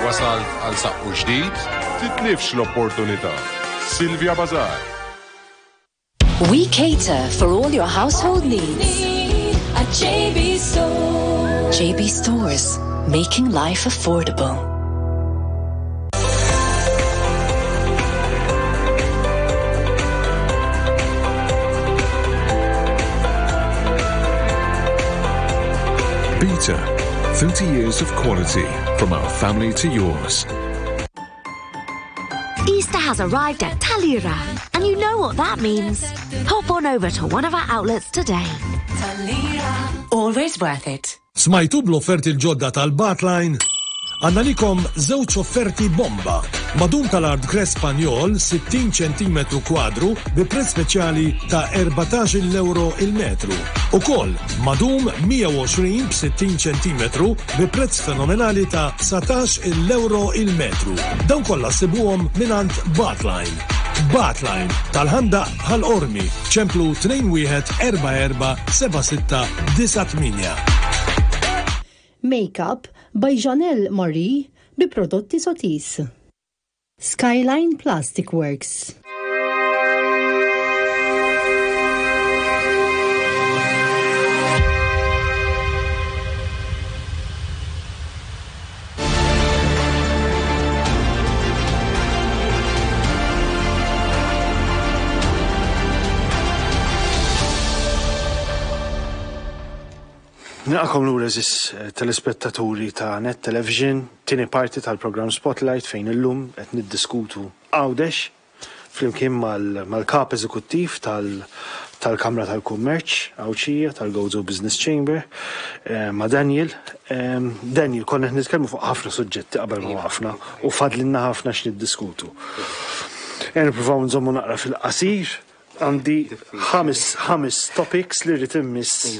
Wasalt għal saqqu ġdid? Titlifx l-opportunità. Silvia Bazar. We cater for all your household needs. At JB Stores. JB Stores, making life affordable. Beta, 30 years of quality from our family to yours. Easter has arrived at Talira, and you know what that means. Pop on over to one of our outlets today. Talira. Always worth it. Smajtu bl-offerti l-ġodda tal-Bartline? Għandna għalikom żewġ offerti bomba. Madum tal-art Gres Spanjol 60 ċentimetru kwadru bi prezz speċjali ta' 14 euro il-metru. Ukoll madum 120 b'60 ċentimetru bi prezz fenomenali ta' 19 euro il-metru. Dawn kollha ssibuhom mingħand Bartline. Bartline, tal-Ħandaq Ħal Qormi, ċemplu 2144 7698. Makeup by Janelle Marie bi prodotti Sotis. Skyline Plastic Works. Nilqakom lura eżis eh, telespettaturi ta' Net Television, tieni parti tal-programm Spotlight fejn illum qed niddiskutu Għawdex flimkien mal-Kap Eżekuttiv tal-Kamra tal-Kummerċ Għawdxija, tal-Gozo Business Chamber, ma' Daniel. Daniel, konna qed nitkellmu fuq ħafna suġġetti qabel ma waqafna u fadlilna ħafna x'niddiskutu. Ejja nippruvaw nżommu naqra fil-qasir. Għandi ħames topics li rrid immiss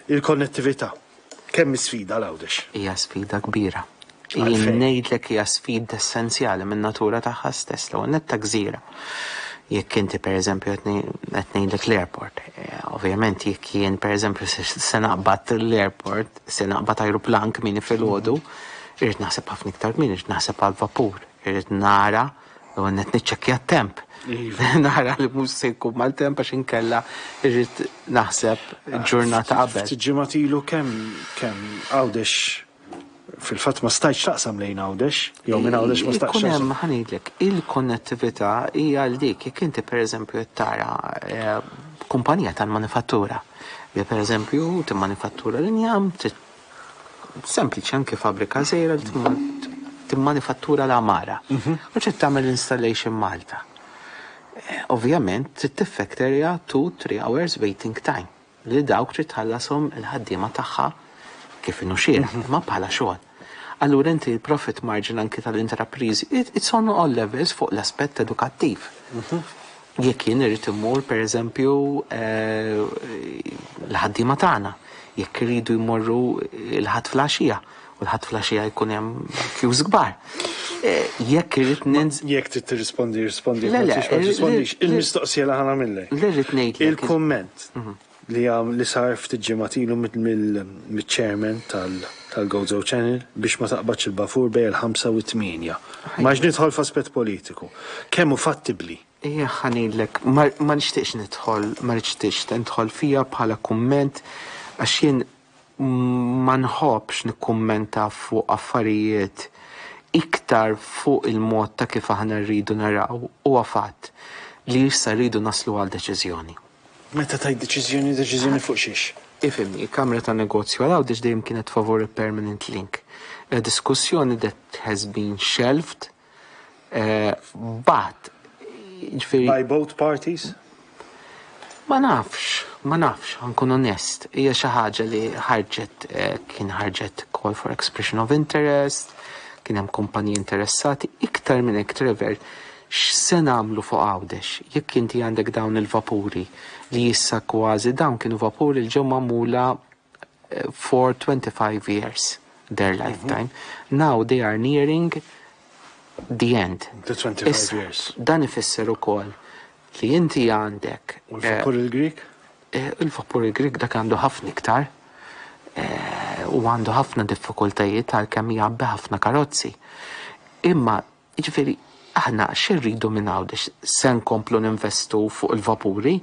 il-konnettività. Kemm hi sfida għal Għawdex? Hija sfida kbira. Jien ngħidlek hija sfida essenzjali min-natura tagħha stess, l-ewwel nett ta' gżira. Jekk inti pereżempju qed ngħidlek l-airport, eh, ovvjament jekk jien pereżempju se naqbad l-airport, se naqbad ajruplan kmieni filgħodu, irrid naħseb ħafna iktar kmieni, irrid naħseb għall-vapur, irrid nara L-ewwel nett niċċekkja t-temp. Iva. Nara li mhux se jkun mal-temp għax inkella irrid naħseb ġurnata qabel. Ftit ġimgħat ilu kemm kemm Għawdex fil-fatt ma stajtx taqsam lejn Għawdex, jew minn Għawdex ma stajtx. Ikun hemm ħa ngħidlek, il-konnettività hija għal dik jekk inti pereżempju qed tara eh, kumpanija tal-manifattura li pereżempju timmanifattura l-injam, Sempliċi anke fabbrika żgħira li timmanifattura l-għamara. Mhm. U trid tagħmel installation Malta. Eh, ovvjament trid tiffekterja 2-3 hours waiting time li dawk trid tħallashom il-ħaddiema tagħha kif inhu xieraq, mhm. imma bħala xogħol. Allura inti l-profit margin anki tal-intrapriżi, it's on all levels fuq l-aspett edukattiv. Mhm. Jekk jien irrid immur pereżempju l-ħaddiema tagħna, jekk iridu jmorru l-Ħadd filgħaxija. U l-Ħadd filgħaxija jkun hemm queues kbar. Eh, jekk irrid ninz. Jekk trid tirrispondi, rispondi. Le, le, ma tirrispondix. Il-mistoqsija li ħa nagħmillek. Li rrid ngħid. Il-kumment mhm. li li sar ftit ġimgħat ilu mill-chairman tal-Gozo Channel biex ma taqbadx il-bafur bejn il-5 u 8. Ma nidħol f'aspett politiku. Kemm hu fattibbli? Ejja ħa ngħidlek, ma nixtieqx nidħol, ma nixtieqx nidħol fija bħala kumment għax jien ma nħobbx nikkummenta fuq affarijiet iktar fuq il-mod ta' kif aħna rridu naraw huwa fatt li issa rridu naslu għal deċiżjoni. Meta tgħid deċiżjoni, deċiżjoni fuq xiex? Ifhimni, il-Kamra tan-Negozju għal Għawdex dejjem kienet favur il-permanent link. Diskussjoni that has been shelved Eh, but, ġifieri. By both parties? Ma nafx, ma nafx, ħa nkun onest. Hija xi ħaġa li ħarġet eh, kien ħarġet call for expression of interest, kien hemm kumpaniji interessati, iktar minn hekk Trevor, x'se nagħmlu fuq Għawdex? Jekk inti għandek dawn il-vapuri li issa kważi dawn kienu vapuri li ġew magħmula eh, for 25 years their mhm. lifetime. Now they are nearing the end. The 25 years. Dan ifisser ukoll li inti għandek. U l-vapur eh, il-Grik? Eh, il-vapur il-Grik dak għandu ħafna iktar eh, u għandu ħafna diffikultajiet għalkemm jgħabbi ħafna karozzi. Imma Jiġifieri, aħna x'irridu minn Għawdex? Se nkomplu ninvestu fuq il-vapuri?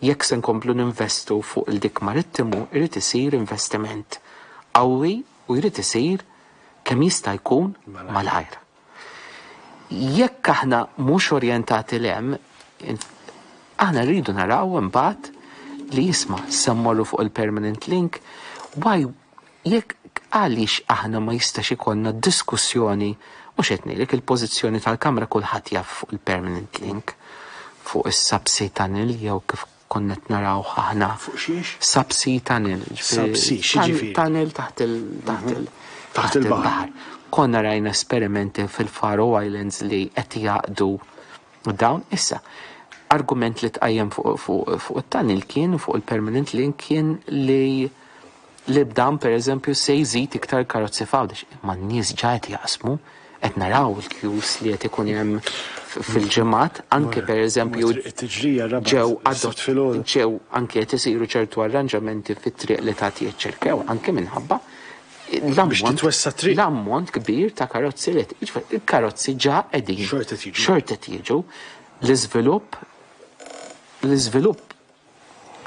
Jekk se nkomplu ninvestu fuq il-dik marittimu, irid isir investiment qawwi u jrid isir kemm jista' jkun malajr. Jekk aħna mhux orjentati 'l hemm, aħna rridu naraw imbagħad li isma' se mmorru fuq il-permanent link, why Jekk għaliex aħna ma jistax ikollna diskussjoni, mhux qed ngħidlek il-pożizzjoni tal-Kamra kulħadd jaf fuq il-permanent link, fuq is-subsea tunnel jew kif konna qed narawh aħna. Fuq xiex? Subsea tunnel. Subsea, x'jiġifieri? Tunnel taħt il taħt il taħt il-baħar. Konna rajna esperimenti fil-Faroe Islands li qed jgħaqqdu dawn issa. Argument li tqajjem fuq it-tunnel kien fuq il-permanent link kien li li b'dan pereżempju se jżid iktar karozzi f'Għawdex. Imma n-nies ġa qed jaqsmu, qed naraw il-queues li qed ikun hemm fil-ġimgħat, anke pereżempju ġew ġew anke qed isiru ċertu arranġamenti fit-triq li tagħti ċ-Ċirkewwa anke minħabba l-ammont kbir ta' karozzi li qed il-karozzi ġa qegħdin xorta qed jiġu. L-iżvilupp l-iżvilupp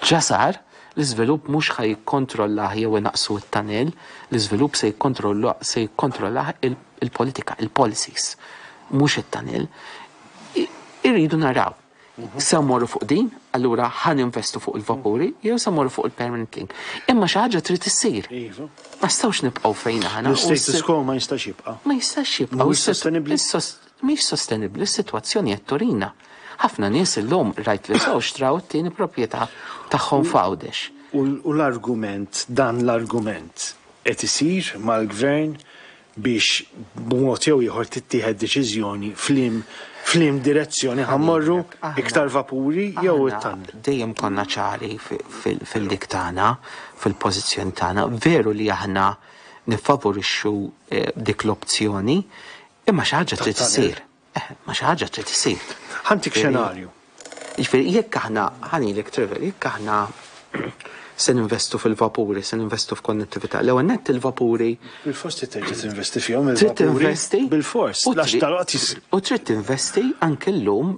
Ġa sar, l-iżvilupp mhux ħa jikkontrollah jew inaqqsu t-tunnel, l-iżvilupp se jikkontrolla se jikkontrollah il-politika, il-policies, mhux it-tunnel. Irridu naraw. Se mmorru fuq din, allura ħa ninvestu fuq il-vapuri, jew se mmorru fuq il-permanent link. Imma xi ħaġa trid issir. Iva. Ma nistgħux nibqgħu fejn aħna. L-status quo ma jistax jibqa'. Ma jistax jibqa'. Mhuwiex sostenibbli. Mhix sostenibbli s-sitwazzjoni qed turina. Ħafna nies illum rightly so xtraw it-tieni proprjetà tagħhom f'Għawdex. U l-argument, dan l-argument qed isir mal-Gvern biex b'mod jew ieħor tittieħed deċiżjoni f'liem f'liem direzzjoni ħa mmorru, iktar vapuri jew it-tunnel. Dejjem konna ċari fil-dik tagħna, fil-pożizzjoni tagħna. Veru li aħna niffavorixxu dik l-opzjoni, Imma xi ħaġa trid issir. Eh, ma xi ħaġa trid issir. Ħantik xenarju. Jiġifieri jekk aħna ħanilek Trevor, jekk aħna se ninvestu fil-vapuri, se ninvestu f'konnettività. L-ewwel nett il-vapuri. Bil-fors trid terġa' tinvesti fihom il-vapuri. Trid tinvesti. Bil-fors. U trid tinvesti anke llum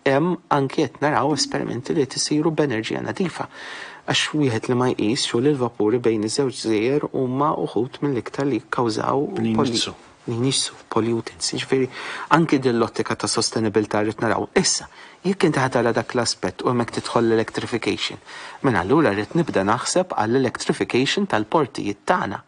Hemm anki qed naraw esperimenti li qed isiru b'enerġija nadifa. Għax wieħed li ma jqisx hu li l-vapuri bejn iż-żewġ gżejjer huma uħud mill-iktar li jikkawżaw Li jniġġsu. Li jniġġsu, pollutants. Jiġifieri anki din l-ottika ta' sostenibilità rrid naraw. Issa, jekk inti ħa tara dak l-aspett u hemmhekk tidħol l-electrification, mela allura rrid nibda naħseb għall-electrification tal-portijiet tagħna.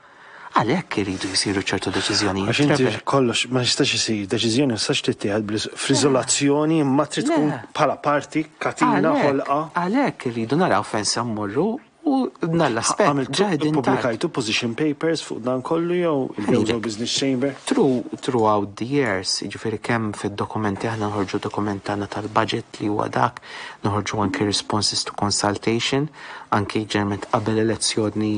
Għalhekk iridu jsiru ċertu deċiżjonijiet. Għax inti kollox ma jistax isir, deċiżjoni ma tistax tittieħed fl-iżolazzjoni imma trid tkun bħala parti, katina, ħolqa. Għalhekk irridu naraw fejn se mmorru u dan l-aspett ġa qegħdin. Ippubblikajtu position papers fuq dan kollu jew il-Gozo Business Chamber? Throughout the years, jiġifieri kemm fid-dokumenti aħna noħorġu dokument tagħna tal-budget li huwa dak, noħorġu anki responses to consultation, anki ġeneralment qabel elezzjoni.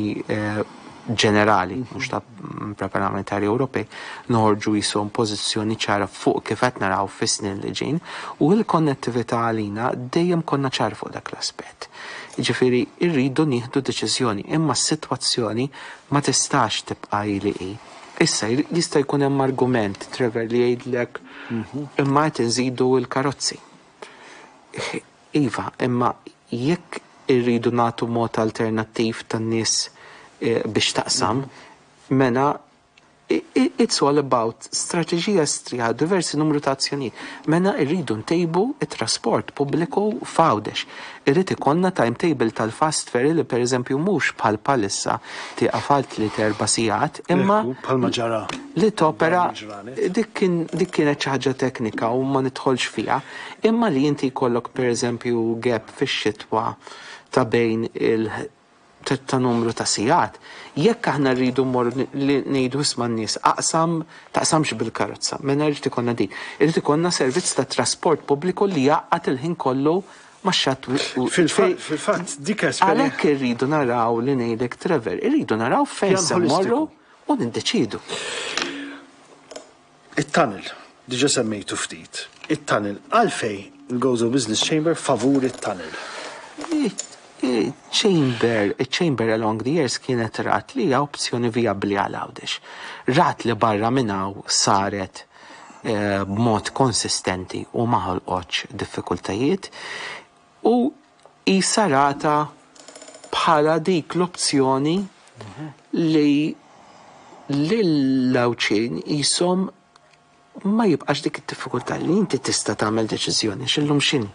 ġenerali, mhux ta' parlamentari Ewropej, noħorġu jisom pożizzjoni ċara fuq kif qed naraw fis-snin li ġejjin u l-konnettività għalina dejjem konna ċar fuq dak l-aspett. Jiġifieri rridu nieħdu deċiżjoni imma s-sitwazzjoni ma tistax tibqa' hi li hi. Issa jista' jkun hemm argument, Trevor, li jgħidlek imma qed inżidu l-karozzi. Iva, imma jekk irridu nagħtu mod alternattiv tan-nies biex taqsam, mela it's all about strateġija strieħa diversi numru ta' azzjonijiet. Mela rridu ntejbu t-trasport pubbliku f'Għawdex. Irid ikollna timetable tal-fast ferry li pereżempju mhux bħal bħalissa tieqaf għal tliet erba' sigħat imma Bħalma ġara li topera dik kien dik kienet xi ħaġa teknika u ma nidħolx fiha, imma li inti jkollok pereżempju gap fix-xitwa ta' bejn il ta' numru ta' sigħat. Jekk aħna rridu mmorru li ngħidu isma' n-nies aqsam taqsamx bil-karozza, mela jrid ikollna din. Irid ikollna servizz ta' trasport pubbliku li jgħaqqad il-ħin kollu max-xatt Fil-fatt dik esperjenza. Għalhekk irridu naraw li ngħidlek Trevor, irridu naraw fejn se mmorru u niddeċiedu. It-tunnel, diġà semmejtu ftit. It-tunnel, għalfejn il-Gozo Business Chamber favur it-tunnel? Chamber, iċ-Chamber along the years kienet rat li hija opzjoni vijabbli għal Għawdex. Rat li barra minn hawn saret b'mod konsistenti u ma ħolqotx diffikultajiet u qisha ratha bħala dik l-opzjoni li lill-Għawdxin qishom ma jibqax dik id-diffikultà li inti tista' tagħmel deċiżjoni għax illum x'inhi?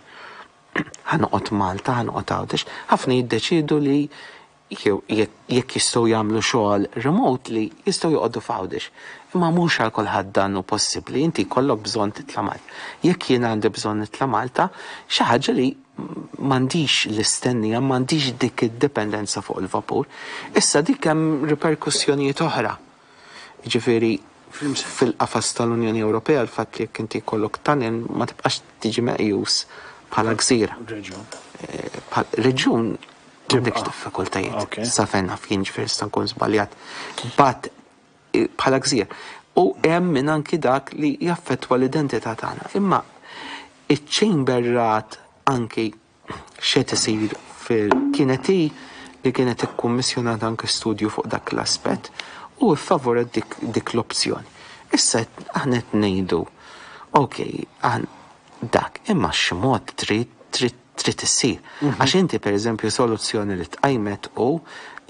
Ħa noqgħod Malta, ħa noqgħod Għawdex. Ħafna jiddeċiedu li jew jekk jistgħu jagħmlu xogħol remotely jistgħu joqogħdu f'Għawdex. Imma mhux għal kulħadd dan hu possibbli, inti jkollok bżonn titla' Malta. Jekk jien għandi bżonn nitla' Malta, xi ħaġa li m'għandix l-istennija, m'għandix dik id-dipendenza fuq il-vapur. Issa dik hemm riperkussjonijiet oħra. Jiġifieri fil-qafas tal-Unjoni Ewropea l-fatt li jekk inti jkollok tunnel ma tibqax tiġi meqjus bħala gżira. Reġjun. Reġjun m'għandekx diffikultajiet. Sa fejn naf jien ġifieri nista' nkun żbaljat. But bħala gżira. U hemm min anki dak li jaffettwa l-identità tagħna. Imma iċ-chamber rat anki x'qed isir fil kienet hi li kienet ikkummissjonat anki studju fuq dak l-aspett u ffavoret dik, dik l-opzjoni. Issa aħna qed ngħidu, ok, dak, imma xi mod trid trid trid issir. Mhm. Għax inti pereżempju soluzzjoni li tqajmet u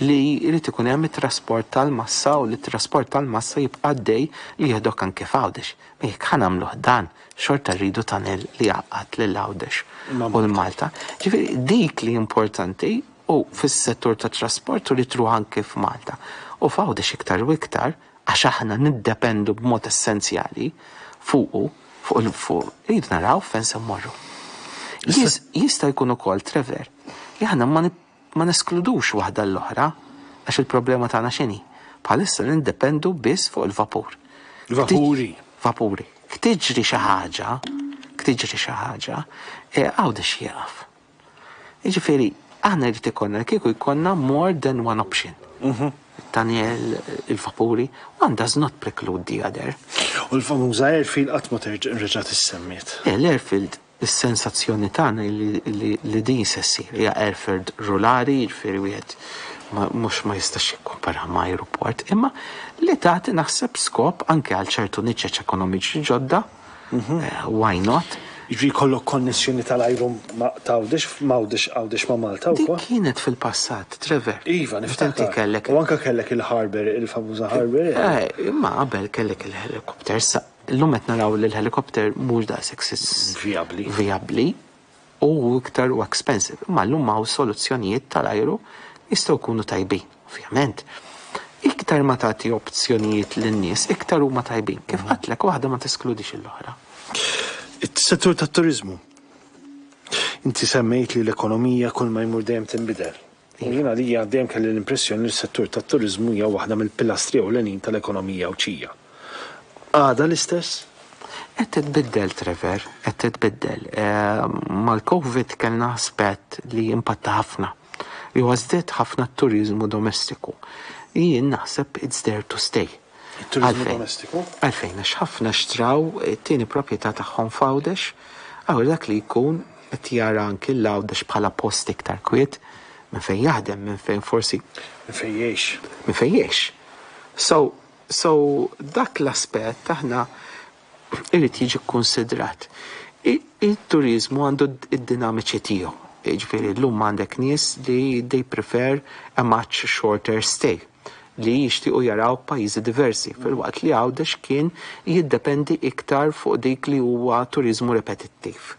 li jrid ikun hemm it-trasport tal-massa u li t-trasport tal-massa jibqa' għaddej li jieħdok anke f'Għawdex. Jekk ħa nagħmluh dan, xorta rridu tunnel li jgħaqqad lil Għawdex u 'l Malta. Ġifieri dik li importanti u fis-settur tat-trasport u li truh anke f'Malta. U f'Għawdex iktar u iktar għax aħna niddependu b'mod essenzjali fuqu, fuq il fuq, irridu naraw fejn se mmorru. Jista' jkun ukoll, Trevor, li aħna ma Ma neskludux waħda l-oħra, għax il-problema tagħna x'inhi? Bħalissa nindependu biss fuq il-vapur. Vapuri. Vapuri. Ktiġri xi ħaġa, ktiġri xi ħaġa, e, Għawdex jieqaf. Jiġifieri, aħna jrid ikollna kieku jkollna more than one option. Mhm. Daniel, il-vapuri, one does not preclude the other. U l-famuża airfield qatt ma terġa' reġgħet issemmiet. Eh, l-airfield Is-sensazzjoni tagħna hi li din se ssir. Hija airfield rurali, jiġifieri wieħed mhux ma jistax jikkumparaha ma' ajruport, imma li tagħti naħseb skop anke għal ċertu niċeċ ekonomiċi ġodda, why not? Jiġifieri jkollok konnessjoni tal-ajru ma' t'Għawdex, m'Għawdex, Għawdex ma' Malta wkoll? Dik kienet fil-passat, Trevor. Iva, niftakar. Inti kellek. U anke kellek il-harbour, il-famuża harbour. Eh, imma qabel kellek il-helicopter, issa Illum qed naraw li l-helikopter mhux daqshekk vijabbli. Vijabbli u iktar u expensive. Imma llum hawn soluzzjonijiet tal-ajru li jistgħu jkunu tajbin, ovvjament. Iktar ma tagħti opzjonijiet lin-nies, iktar huma tajbin. Kif għedtlek waħda ma teskludix l-oħra. Is-settur tat-turiżmu. Inti semmejt li l-ekonomija kull ma jmur dejjem tinbidel. U jien għalija dejjem kelli l-impressjoni li s-settur tat-turiżmu hija waħda mill-pilastri ewlenin tal-ekonomija Għawdxija. Għadha l-istess? Qed titbiddel, Trevor, qed titbiddel. Mal-Covid kellna aspett li impatta ħafna, li huwa żdied ħafna t-turiżmu domestiku. Jien naħseb it's there to stay. It-turiżmu domestiku? Għalfejn, għax ħafna xtraw it-tieni proprjetà tagħhom f'Għawdex, allura dak li jkun qed jara anki 'l Għawdex bħala post iktar kwiet minn fejn jaħdem, minn fejn forsi. Minn fejn jgħix. Minn fejn jgħix. So, so dak l-aspett aħna irid jiġi kkunsidrat. It-turiżmu għandu d-dinamiċi tiegħu. Jiġifieri llum għandek nies li they prefer a much shorter stay li jixtiequ jaraw pajjiżi diversi, filwaqt li Għawdex kien jiddependi iktar fuq dik li huwa turiżmu repetittiv.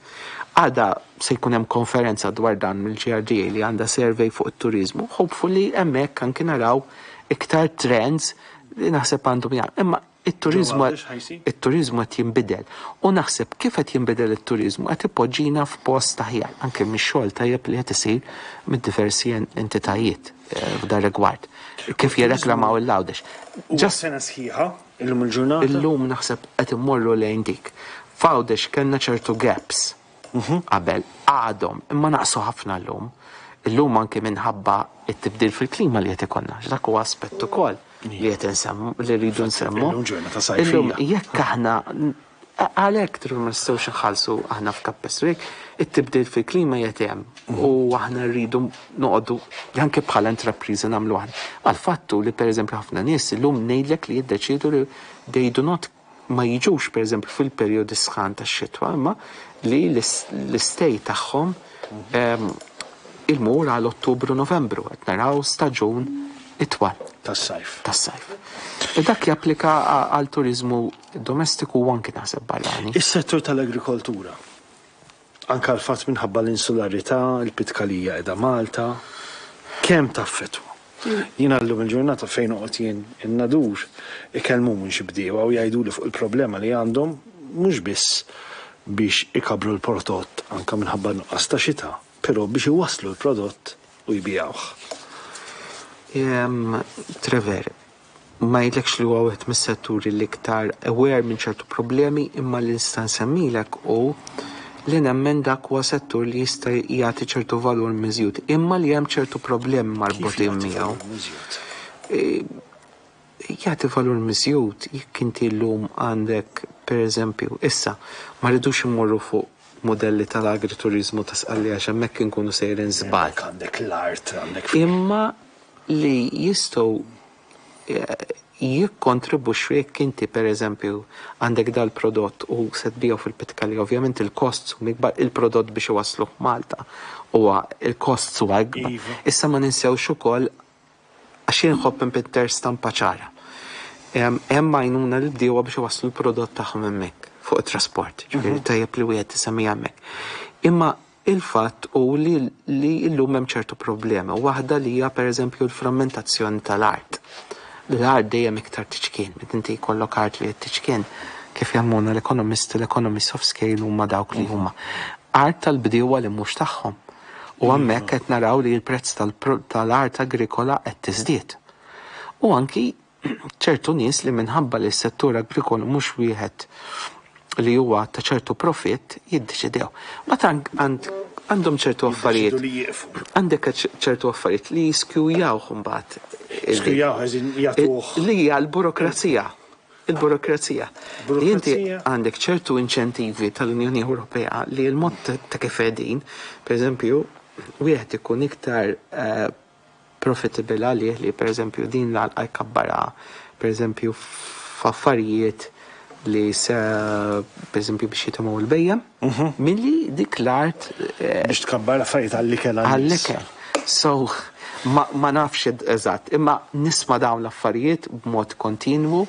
Għada se jkun hemm konferenza dwar dan mill-GRDA li għandha survey fuq it-turiżmu. Hopefully hemmhekk anki naraw iktar trends li naħseb għandhom jagħmlu. Imma It-turiżmu it-turiżmu qed jinbidel u naħseb kif qed jinbidel it-turiżmu qed ipoġġina f'post aħjar anke mix-xogħol tajjeb li qed isir mid-diversi entitajiet eh, f'dan rigward. Kif jirreklamaw il-Għawdex. Ġa sena sħiħa illum il-ġurnata. Illum naħseb qed immorru lejn dik. F'Għawdex kellna ċertu gaps qabel, għadhom, imma naqsu ħafna llum. Illum anke minħabba t-tibdil fil-klima li qed ikollna, dak huwa aspett ukoll li qed insemmu li rridu nsemmu. Illum ġurnata sajfija. Illum jekk aħna għalhekk tru ma nistgħux inħallsu aħna f'kappestru jekk it-tibdil fil-klima qed hemm u aħna rridu noqogħdu anke bħala intrapriża nagħmlu aħna. Għal-fattu li pereżempju ħafna nies illum ngħidlek li jiddeċiedu li they do not ma jiġux pereżempju fil-perjodi sħan tax-xitwa imma li l-istej tagħhom ehm, il-mur għal Ottubru Novembru qed naraw staġun itwal. Tas-sajf. Tas-sajf. U dak japplika għal turiżmu domestiku u anki naħseb barrani. Is-settur tal-agrikoltura. Anke għall-fatt minħabba l-insularità, il-pitkalija qiegħda Malta, kemm taffettwa? Jiena llum il-ġurnata fejn noqgħod jien in-Nadur ikellmuni xi bdiewa u jgħiduli fuq il-problema li għandhom mhux biss biex ikabbru l-prodott anke minħabba nuqqas ta' xita, però biex iwasslu l-prodott u jbigħuh. Trevor, ma ngħidlekx li huwa wieħed mis-setturi l-iktar aware minn ċertu problemi imma li nista' nsemmilek hu li nemmen dak huwa settur li jista' jagħti ċertu valur miżjud imma li hemm ċertu problemi marbutin miegħu. E, jagħti valur miżjud jekk inti llum għandek pereżempju issa ma rridux immorru fuq modelli tal-agrituriżmu ta' Sqallija għax hemmhekk inkunu sejrin żball. Għandek l-art, għandek Imma li jistgħu jikkontribwixxu jekk inti pereżempju għandek dal-prodott u se tbigħu fil-pitkalija, ovvjament il-costs huma ikbar, il-prodott biex iwassluh Malta huwa il-costs huwa ikbar. Iva. Issa ma ninsewx ukoll għax jien nħobb inpitter stampa ċara. Hemm għajnuna lill-bdiewa biex iwasslu l-prodott tagħhom hemmhekk fuq it-trasport, ġifieri tajjeb li wieħed isemmiha hemmhekk. Imma Il-fatt hu li li llum hemm ċertu problemi, waħda li hija pereżempju l-frammentazzjoni tal-art. L-art dejjem iktar tiċkien, meta inti jkollok art li qed tiċkien, kif jgħallmuna l-ekonomisti, l-economies of scale huma dawk li huma. Art tal-bdiewa li mhux tagħhom. U hemmhekk qed naraw li l-prezz tal-art agrikola qed tiżdied. U anki ċertu nies li minħabba li s-settur agrikolu mhux wieħed li huwa ta' ċertu profitt jiddeċidew. Mbagħad għandhom ċertu affarijiet. Għandek ċertu affarijiet li jiskjujawh imbagħad. Skjujawh eżin jagħtuh. Li hija l-burokrazija. Il-burokrazija. Li inti għandek ċertu inċentivi tal-Unjoni Ewropea li l-mod ta' kif qegħdin, pereżempju, wieħed ikun iktar eh, profitable għalih li pereżempju din l-għalqa jkabbarha pereżempju f'affarijiet li se pereżempju biex jitimgħu l-bhejjem mhm. milli dik l-art eh, biex tkabbar affarijiet għall-ikel għall-ikel. So ma, ma nafx eżatt, imma nisma' dawn l-affarijiet b'mod kontinwu.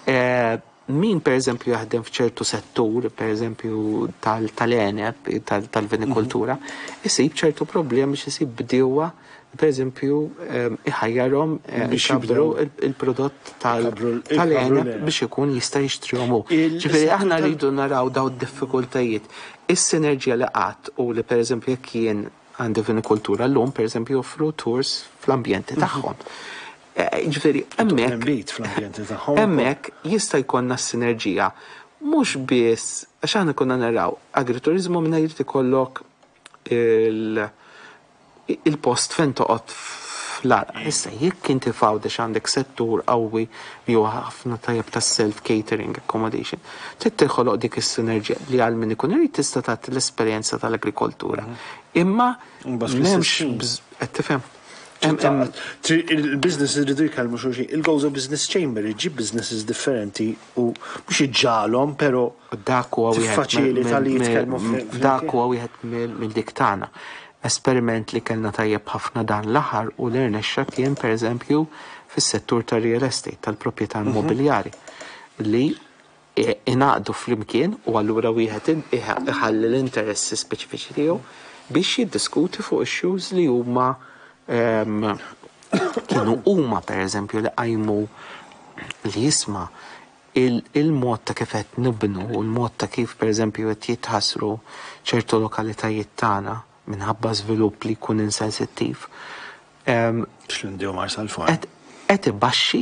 Eh, Min pereżempju jaħdem f'ċertu settur, pereżempju tal-għeneb, tal-vinikultura, isib ċertu problemi biex isib bdiewa pereżempju ehm, iħajjarhom eh, biex jikbru il-prodott tal-għeneb biex ikun jista' jixtrihom hu. Ġifieri aħna rridu naraw daw d-diffikultajiet. Is-sinerġija li qatt u li pereżempju jekk jien għandi vinikultura llum pereżempju joffru tours fl-ambjenti mhm. tagħhom. Eh, ġifieri hemmhekk fl-ambjenti tagħhom. Hemmhekk jista' jkollna s-sinerġija mhux biss għax aħna konna naraw agrituriżmu mingħajr ikollok il-post fejn toqgħod fl-għalqa. Issa jekk inti f'Għawdex għandek settur qawwi li huwa ħafna tajjeb tas-self catering accommodation, trid tinħoloq dik is-sinerġija li għal min ikun irid tista' tagħti l-esperjenza tal-agrikoltura. Imma m'hemmx qed tifhem? Il-business iridu jkellmu xulxin. Il-Gozo Business Chamber iġġib businesses differenti u mhux iġġagħalhom, però Dak huwa wieħed tiffaċilita li jitkellmu Dak huwa wieħed mill-dik tagħna. Esperiment li kellna tajjeb ħafna dan l-aħħar u li rnexxa kien pereżempju fis-settur tar-real estate, tal-proprjetà immobiljari, li ingħaqdu flimkien u allura wieħed iħalli l-interessi speċifiċi tiegħu biex jiddiskuti fuq issues li huma kienu huma pereżempju li qajmu li jisma' il-mod ta' kif qed nibnu u l-mod ta' kif pereżempju qed jitħassru ċertu lokalitajiet tagħna minħabba żvilupp li jkun insensittiv. X'Lindi u Marsalforn. Qed ibaxxi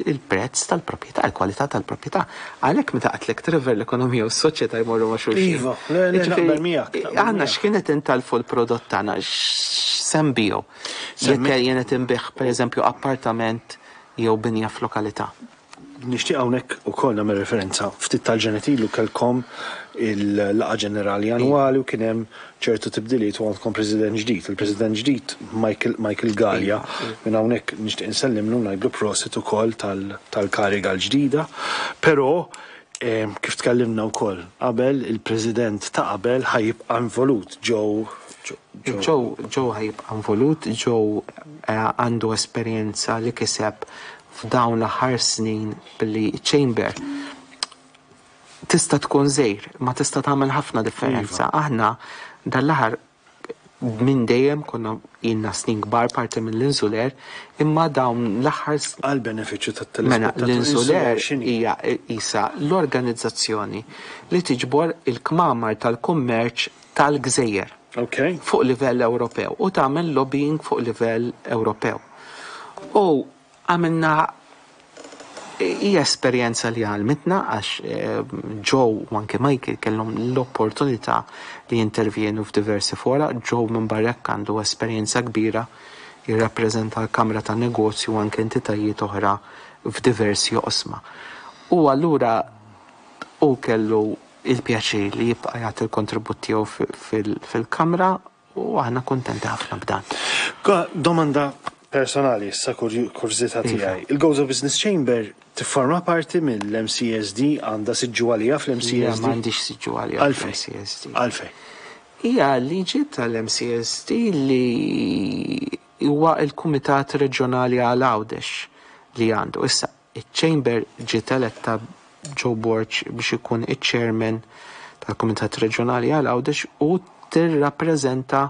il-prezz tal-proprjetà, il-kwalità tal-proprjetà. Għalhekk meta għedtlek Trevor l-ekonomija u s-soċjetà jmorru ma' xulxin. Iva, le, le, naqbel miegħek. Aħna x'kien qed intalfu l-prodott tagħna, x'se nbigħu? Jekk jien qed inbigħ pereżempju appartament jew binja f'lokalità. Nixtieq hawnhekk ukoll nagħmel referenza, ftit tal-ġranet ilu kellkom il-laqgħa ġenerali annwali u kien hemm ċertu tibdiliet u għandkom President ġdid. Il-President ġdid Michael Michael Galea, minn hawnhekk nixtieq insellimlu u ngħidlu prosit ukoll tal-kariga l-ġdida. Però kif tkellimna wkoll qabel, il-President ta' qabel ħa jibqa' involut, Joe Joe Joe ħa jibqa' involut, Joe għandu esperjenza li kiseb f'dawn l-aħħar snin billi ċ-chamber tista' tkun żgħir imma tista' tagħmel ħafna differenza. Aħna dan l-aħħar minn dejjem konna ilna snin kbar parti mill-Insuler imma dawn l-aħħar Għall-benefiċċju tat-telespettaturi. Mela l-Insuler hija qisha l-organizzazzjoni li tiġbor il-kmamar tal-kummerċ tal-gżejjer fuq livell Ewropew u tagħmel lobbying fuq livell Ewropew. U għamilna hija esperjenza li għallmitna għax Joe u anke Michael kellhom l-opportunità li jintervjenu f'diversi fora. Joe minn barra hekk għandu esperjenza kbira jirrappreżenta l-Kamra tan-Negozju u anke entitajiet oħra f'diversi oqsma. U allura hu kellu il-pjaċir li jibqa' jagħti l-kontribut tiegħu fil-Kamra u aħna kuntenti ħafna b'dan. Domanda personali issa kurżità tiegħi. Il-Gozo Business Chamber tifforma parti mill-MCSD, għandha siġġu għaliha fl-MCSD? Le, m'għandix siġġu għaliha fl-MCSD. Għalfejn? Hija liġi tal-MCSD li huwa l-Kumitat Reġjonali għal Għawdex li għandu. Issa, Iċ-Chamber ġiet eletta Joe Borg biex ikun iċ-Chairman tal-Kumitat Reġjonali għal Għawdex u tirrappreżenta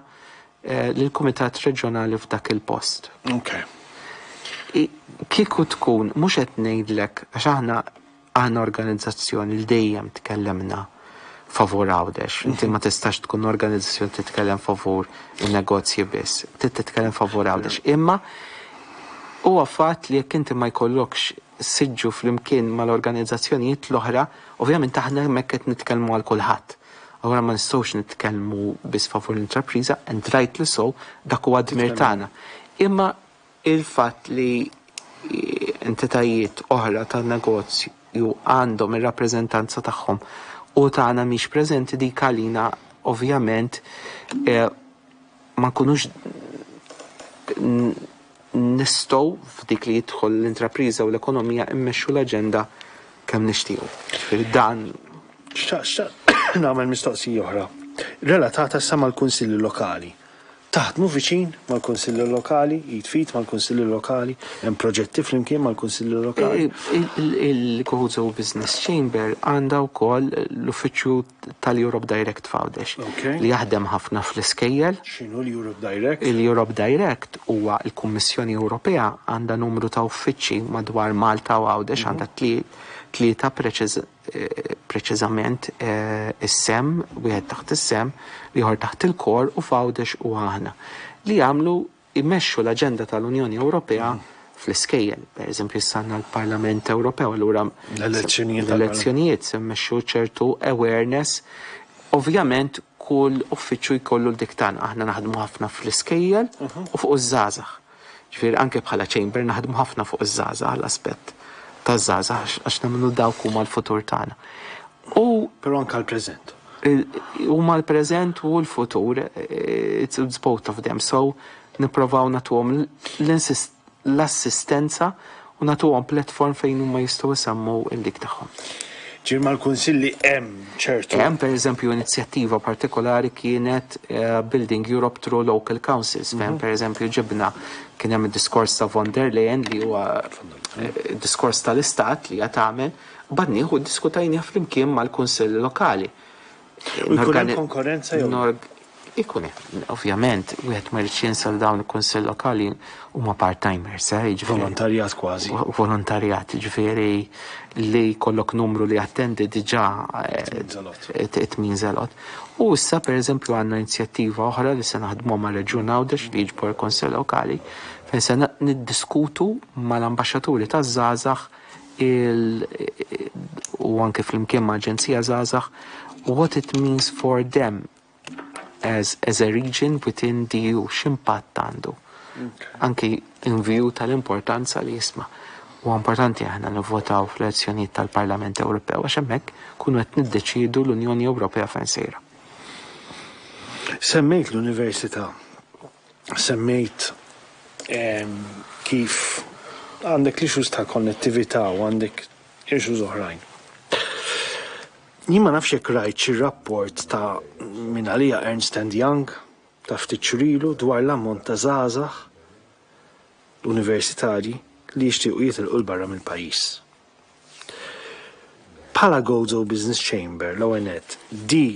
lill-Kumitat Reġjonali f'dak il-post. Okay. Kieku tkun, mhux qed ngħidlek, għax aħna aħna organizzazzjoni li dejjem tkellemna favur Għawdex. Inti ma tistax tkun organizzazzjoni titkellem favur in-negozji biss, trid titkellem favur Għawdex. Imma huwa fatt li jekk inti ma jkollokx siġġu flimkien mal-organizzazzjonijiet l-oħra, ovvjament aħna hemmhekk qed nitkellmu għal kulħadd. Allura ma nistgħux nitkellmu biss favur l-intrapriża, and rightly so, dak huwa d-dmir tagħna. Imma Il-fatt li entitajiet oħra tan-negozju għandhom ir-rappreżentanza tagħhom u tagħna mhix preżenti dik għalina ovvjament ma nkunux nistgħu f'dik li jidħol l-intrapriża u l-ekonomija mmexxu l-aġenda kemm nixtiequ. Ġifieri dan. Xtaqt nagħmel mistoqsija oħra relatata issa mal-kunsilli lokali. Taħdmu viċin mal-Kunsilli Lokali, id f'id mal-Kunsilli Lokali, hemm proġetti flimkien mal-Kunsilli Lokali? Il-Gozo Business Chamber għandha wkoll l-uffiċċju tal-Europe Direct f'Għawdex li jaħdem ħafna fl-iskejjel. X'inhu l-Europe Direct? Il-Europe Direct huwa l-Kummissjoni Ewropea għandha numru ta' uffiċċji madwar Malta u Għawdex, għandha tlieta preċiżament is-SEM, wieħed taħt is-SEM, l-ieħor taħt il-KOR u f'Għawdex u aħna, li jagħmlu jmexxu l-aġenda tal-Unjoni Ewropea fl-iskejjel. Per eżempju, issa għandna l-Parlament Ewropew, allura l-elezzjonijiet l-elezzjonijiet se mmexxu ċertu awareness. Ovvjament. kull uffiċċju jkollu l-dik tagħna. Aħna naħdmu ħafna fl-iskejjel u fuq iż-żgħażagħ. Ġifieri anke bħala chamber naħdmu ħafna fuq iż-żgħażagħ, l-aspett taż-żgħażagħ għax nemmnu dawk huma l-futur tagħna. U Però anke l-preżent. Huma l-preżent u l-futur, it's both of them. So nipprovaw nagħtuhom l-assistenza u nagħtuhom platform fejn huma jistgħu jsemmu l-dik tagħhom. Ġifieri mal-kunsilli hemm ċertu. Hemm pereżempju inizjattiva partikolari kienet Building Europe through Local Councils fejn pereżempju ġibna kien hemm id-diskors ta' von der Leyen li huwa diskors tal-Istat li hija tagħmel, badnieh u ddiskutajnieh flimkien mal-kunsilli lokali. U jkun hemm konkorrenza jew? Ikun hemm, ovvjament, wieħed ma jridx jinsa li dawn il-kunsill lokali huma part-timers, eh, jiġifieri. Volontarjat kważi. Volontarjat, jiġifieri li jkollok numru li jattendi diġà it means a lot. U issa pereżempju għandna inizjattiva oħra li se naħdmuha mar-Reġjun Għawdex li jiġbor il-Kunsill Lokali fejn se niddiskutu mal-ambaxxaturi taż-żgħażagħ il u anke flimkien ma' Aġenzija Żgħażagħ what it means for them as, as a region within the EU, x'impatt għandu. Anki in view tal-importanza li jisma'. Huwa importanti aħna nivvotaw fl-elezzjonijiet tal-Parlament Ewropew għax hemmhekk kunu qed niddeċiedu l-Unjoni Ewropea fejn sejra. Semmejt l-università, semmejt kif għandek l-issues ta' konnettività u għandek issues oħrajn. Jien ma nafx jekk rajt xi rapport ta' mingħalija Ernst and Young ta' ftit xhur ilu dwar l-ammont ta' żgħażagħ universitarji li jixtiequ jitilqu 'l barra mill-pajjiż. Bħala Gozo Business Chamber, l-ewwel nett, di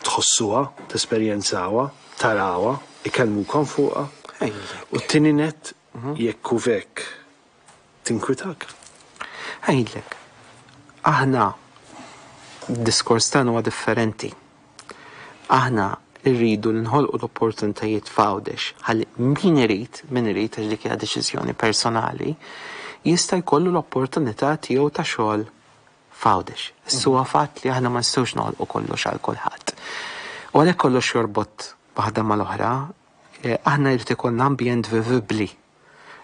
tħossuha, tesperjenzawha, tarawha, ikellmukom fuqha? U t-tieni nett, jekk hu hekk, Tinkwitak? Ngħidlek, aħna d-diskors tagħna huwa differenti. Aħna rridu li nħolqu l-opportunitajiet f'Għawdex ħalli min irid, min irid għax dik hija deċiżjoni personali, jista' jkollu l-opportunità tiegħu ta' xogħol f'Għawdex. Issa huwa fatt li aħna ma nistgħux noħolqu kollox għal kulħadd. U għalhekk kollox jorbot waħda mal-oħra, eh, aħna jrid ikollna ambjent vivibbli.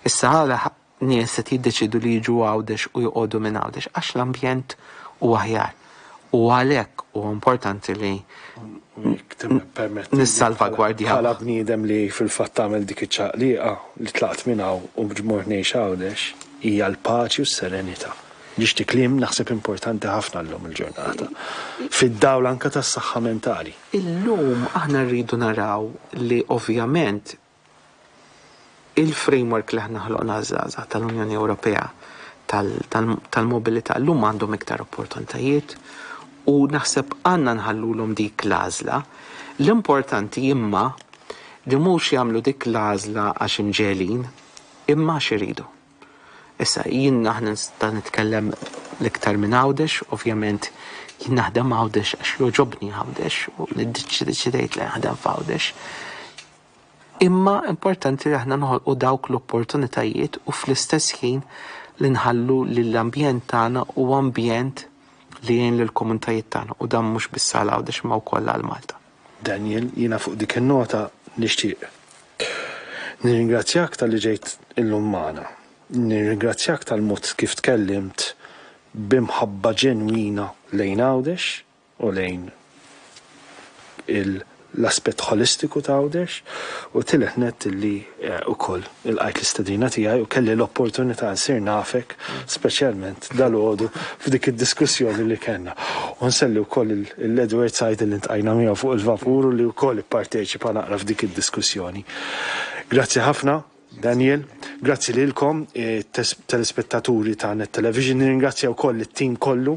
Issa għala nies qed jiddeċiedu li jiġu Għawdex u joqogħdu minn Għawdex? Għax l-ambjent huwa aħjar. U għalhekk huwa importanti li nissalvagwardjaw. Bħala bniedem li fil-fatt għamel dik iċ-ċaqliqa li tlaqt minn hawn u mort ngħix Għawdex, hija l-paċi u s-serenità. Nixtieq kliem naħseb importanti ħafna llum il-ġurnata. Fid-dawl anke tas-saħħa mentali. Illum aħna rridu naraw li ovvjament Il-framework li aħna ħloqna għaż-żgħażagħ tal-Unjoni Ewropea tal-mobilità llum għandhom iktar opportunitajiet u naħseb għandna nħallulhom dik l-għażla. L-importanti imma li mhux jagħmlu dik l-għażla għax imġegħlin imma għax iridu. Issa, jien aħna nista' nitkellem l-iktar minn Għawdex, ovvjament jien naħdem Għawdex għax jogħġobni Għawdex u ddeċidejt li naħdem f'Għawdex. Imma importanti li aħna noħolqu dawk l-opportunitajiet u fl-istess ħin li nħallu li l-ambjent tagħna huwa ambjent li jgħin lill-komunitajiet tagħna u dan mhux biss għal Għawdex imma wkoll għal Malta. Daniel, jiena fuq dik in-nota nixtieq nirringrazzjak talli ġejt illum magħna. Nirringrazzjak tal-mod kif tkellimt b'imħabba ġenwina lejn Għawdex, u lejn l-aspett ħolistiku ta' Għawdex u tielet nett illi wkoll ilqajt l-istedina tiegħi u kelli l-opportunità nsir nafek speċjalment dalgħodu f'dik id-diskussjoni li kellna. U nselli wkoll lil Edward Said illi ntqajna miegħu fuq il-vapur u li wkoll ipparteċipa naqra f'dik id-diskussjoni. Grazzi ħafna. Daniel, grazzi lilkom telespettaturi ta' Net Television, nirringrazzja wkoll it-tim kollu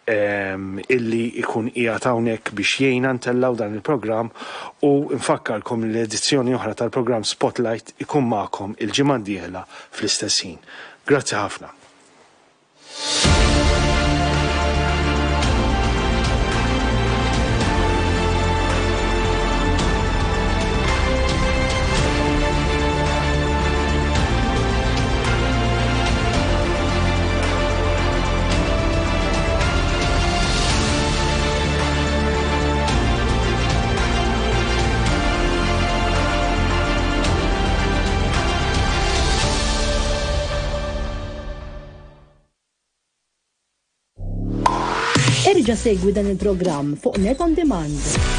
ehm, illi ikun qiegħed hawnhekk biex jgħinna ntellgħu dan il-programm u nfakkarkom li l-edizzjoni oħra tal-programm Spotlight ikun magħkom il-ġimgħa d-dieħla fl-istess ħin. Grazzi ħafna. Erġa' segwi dan il-programm fuq Net On Demand.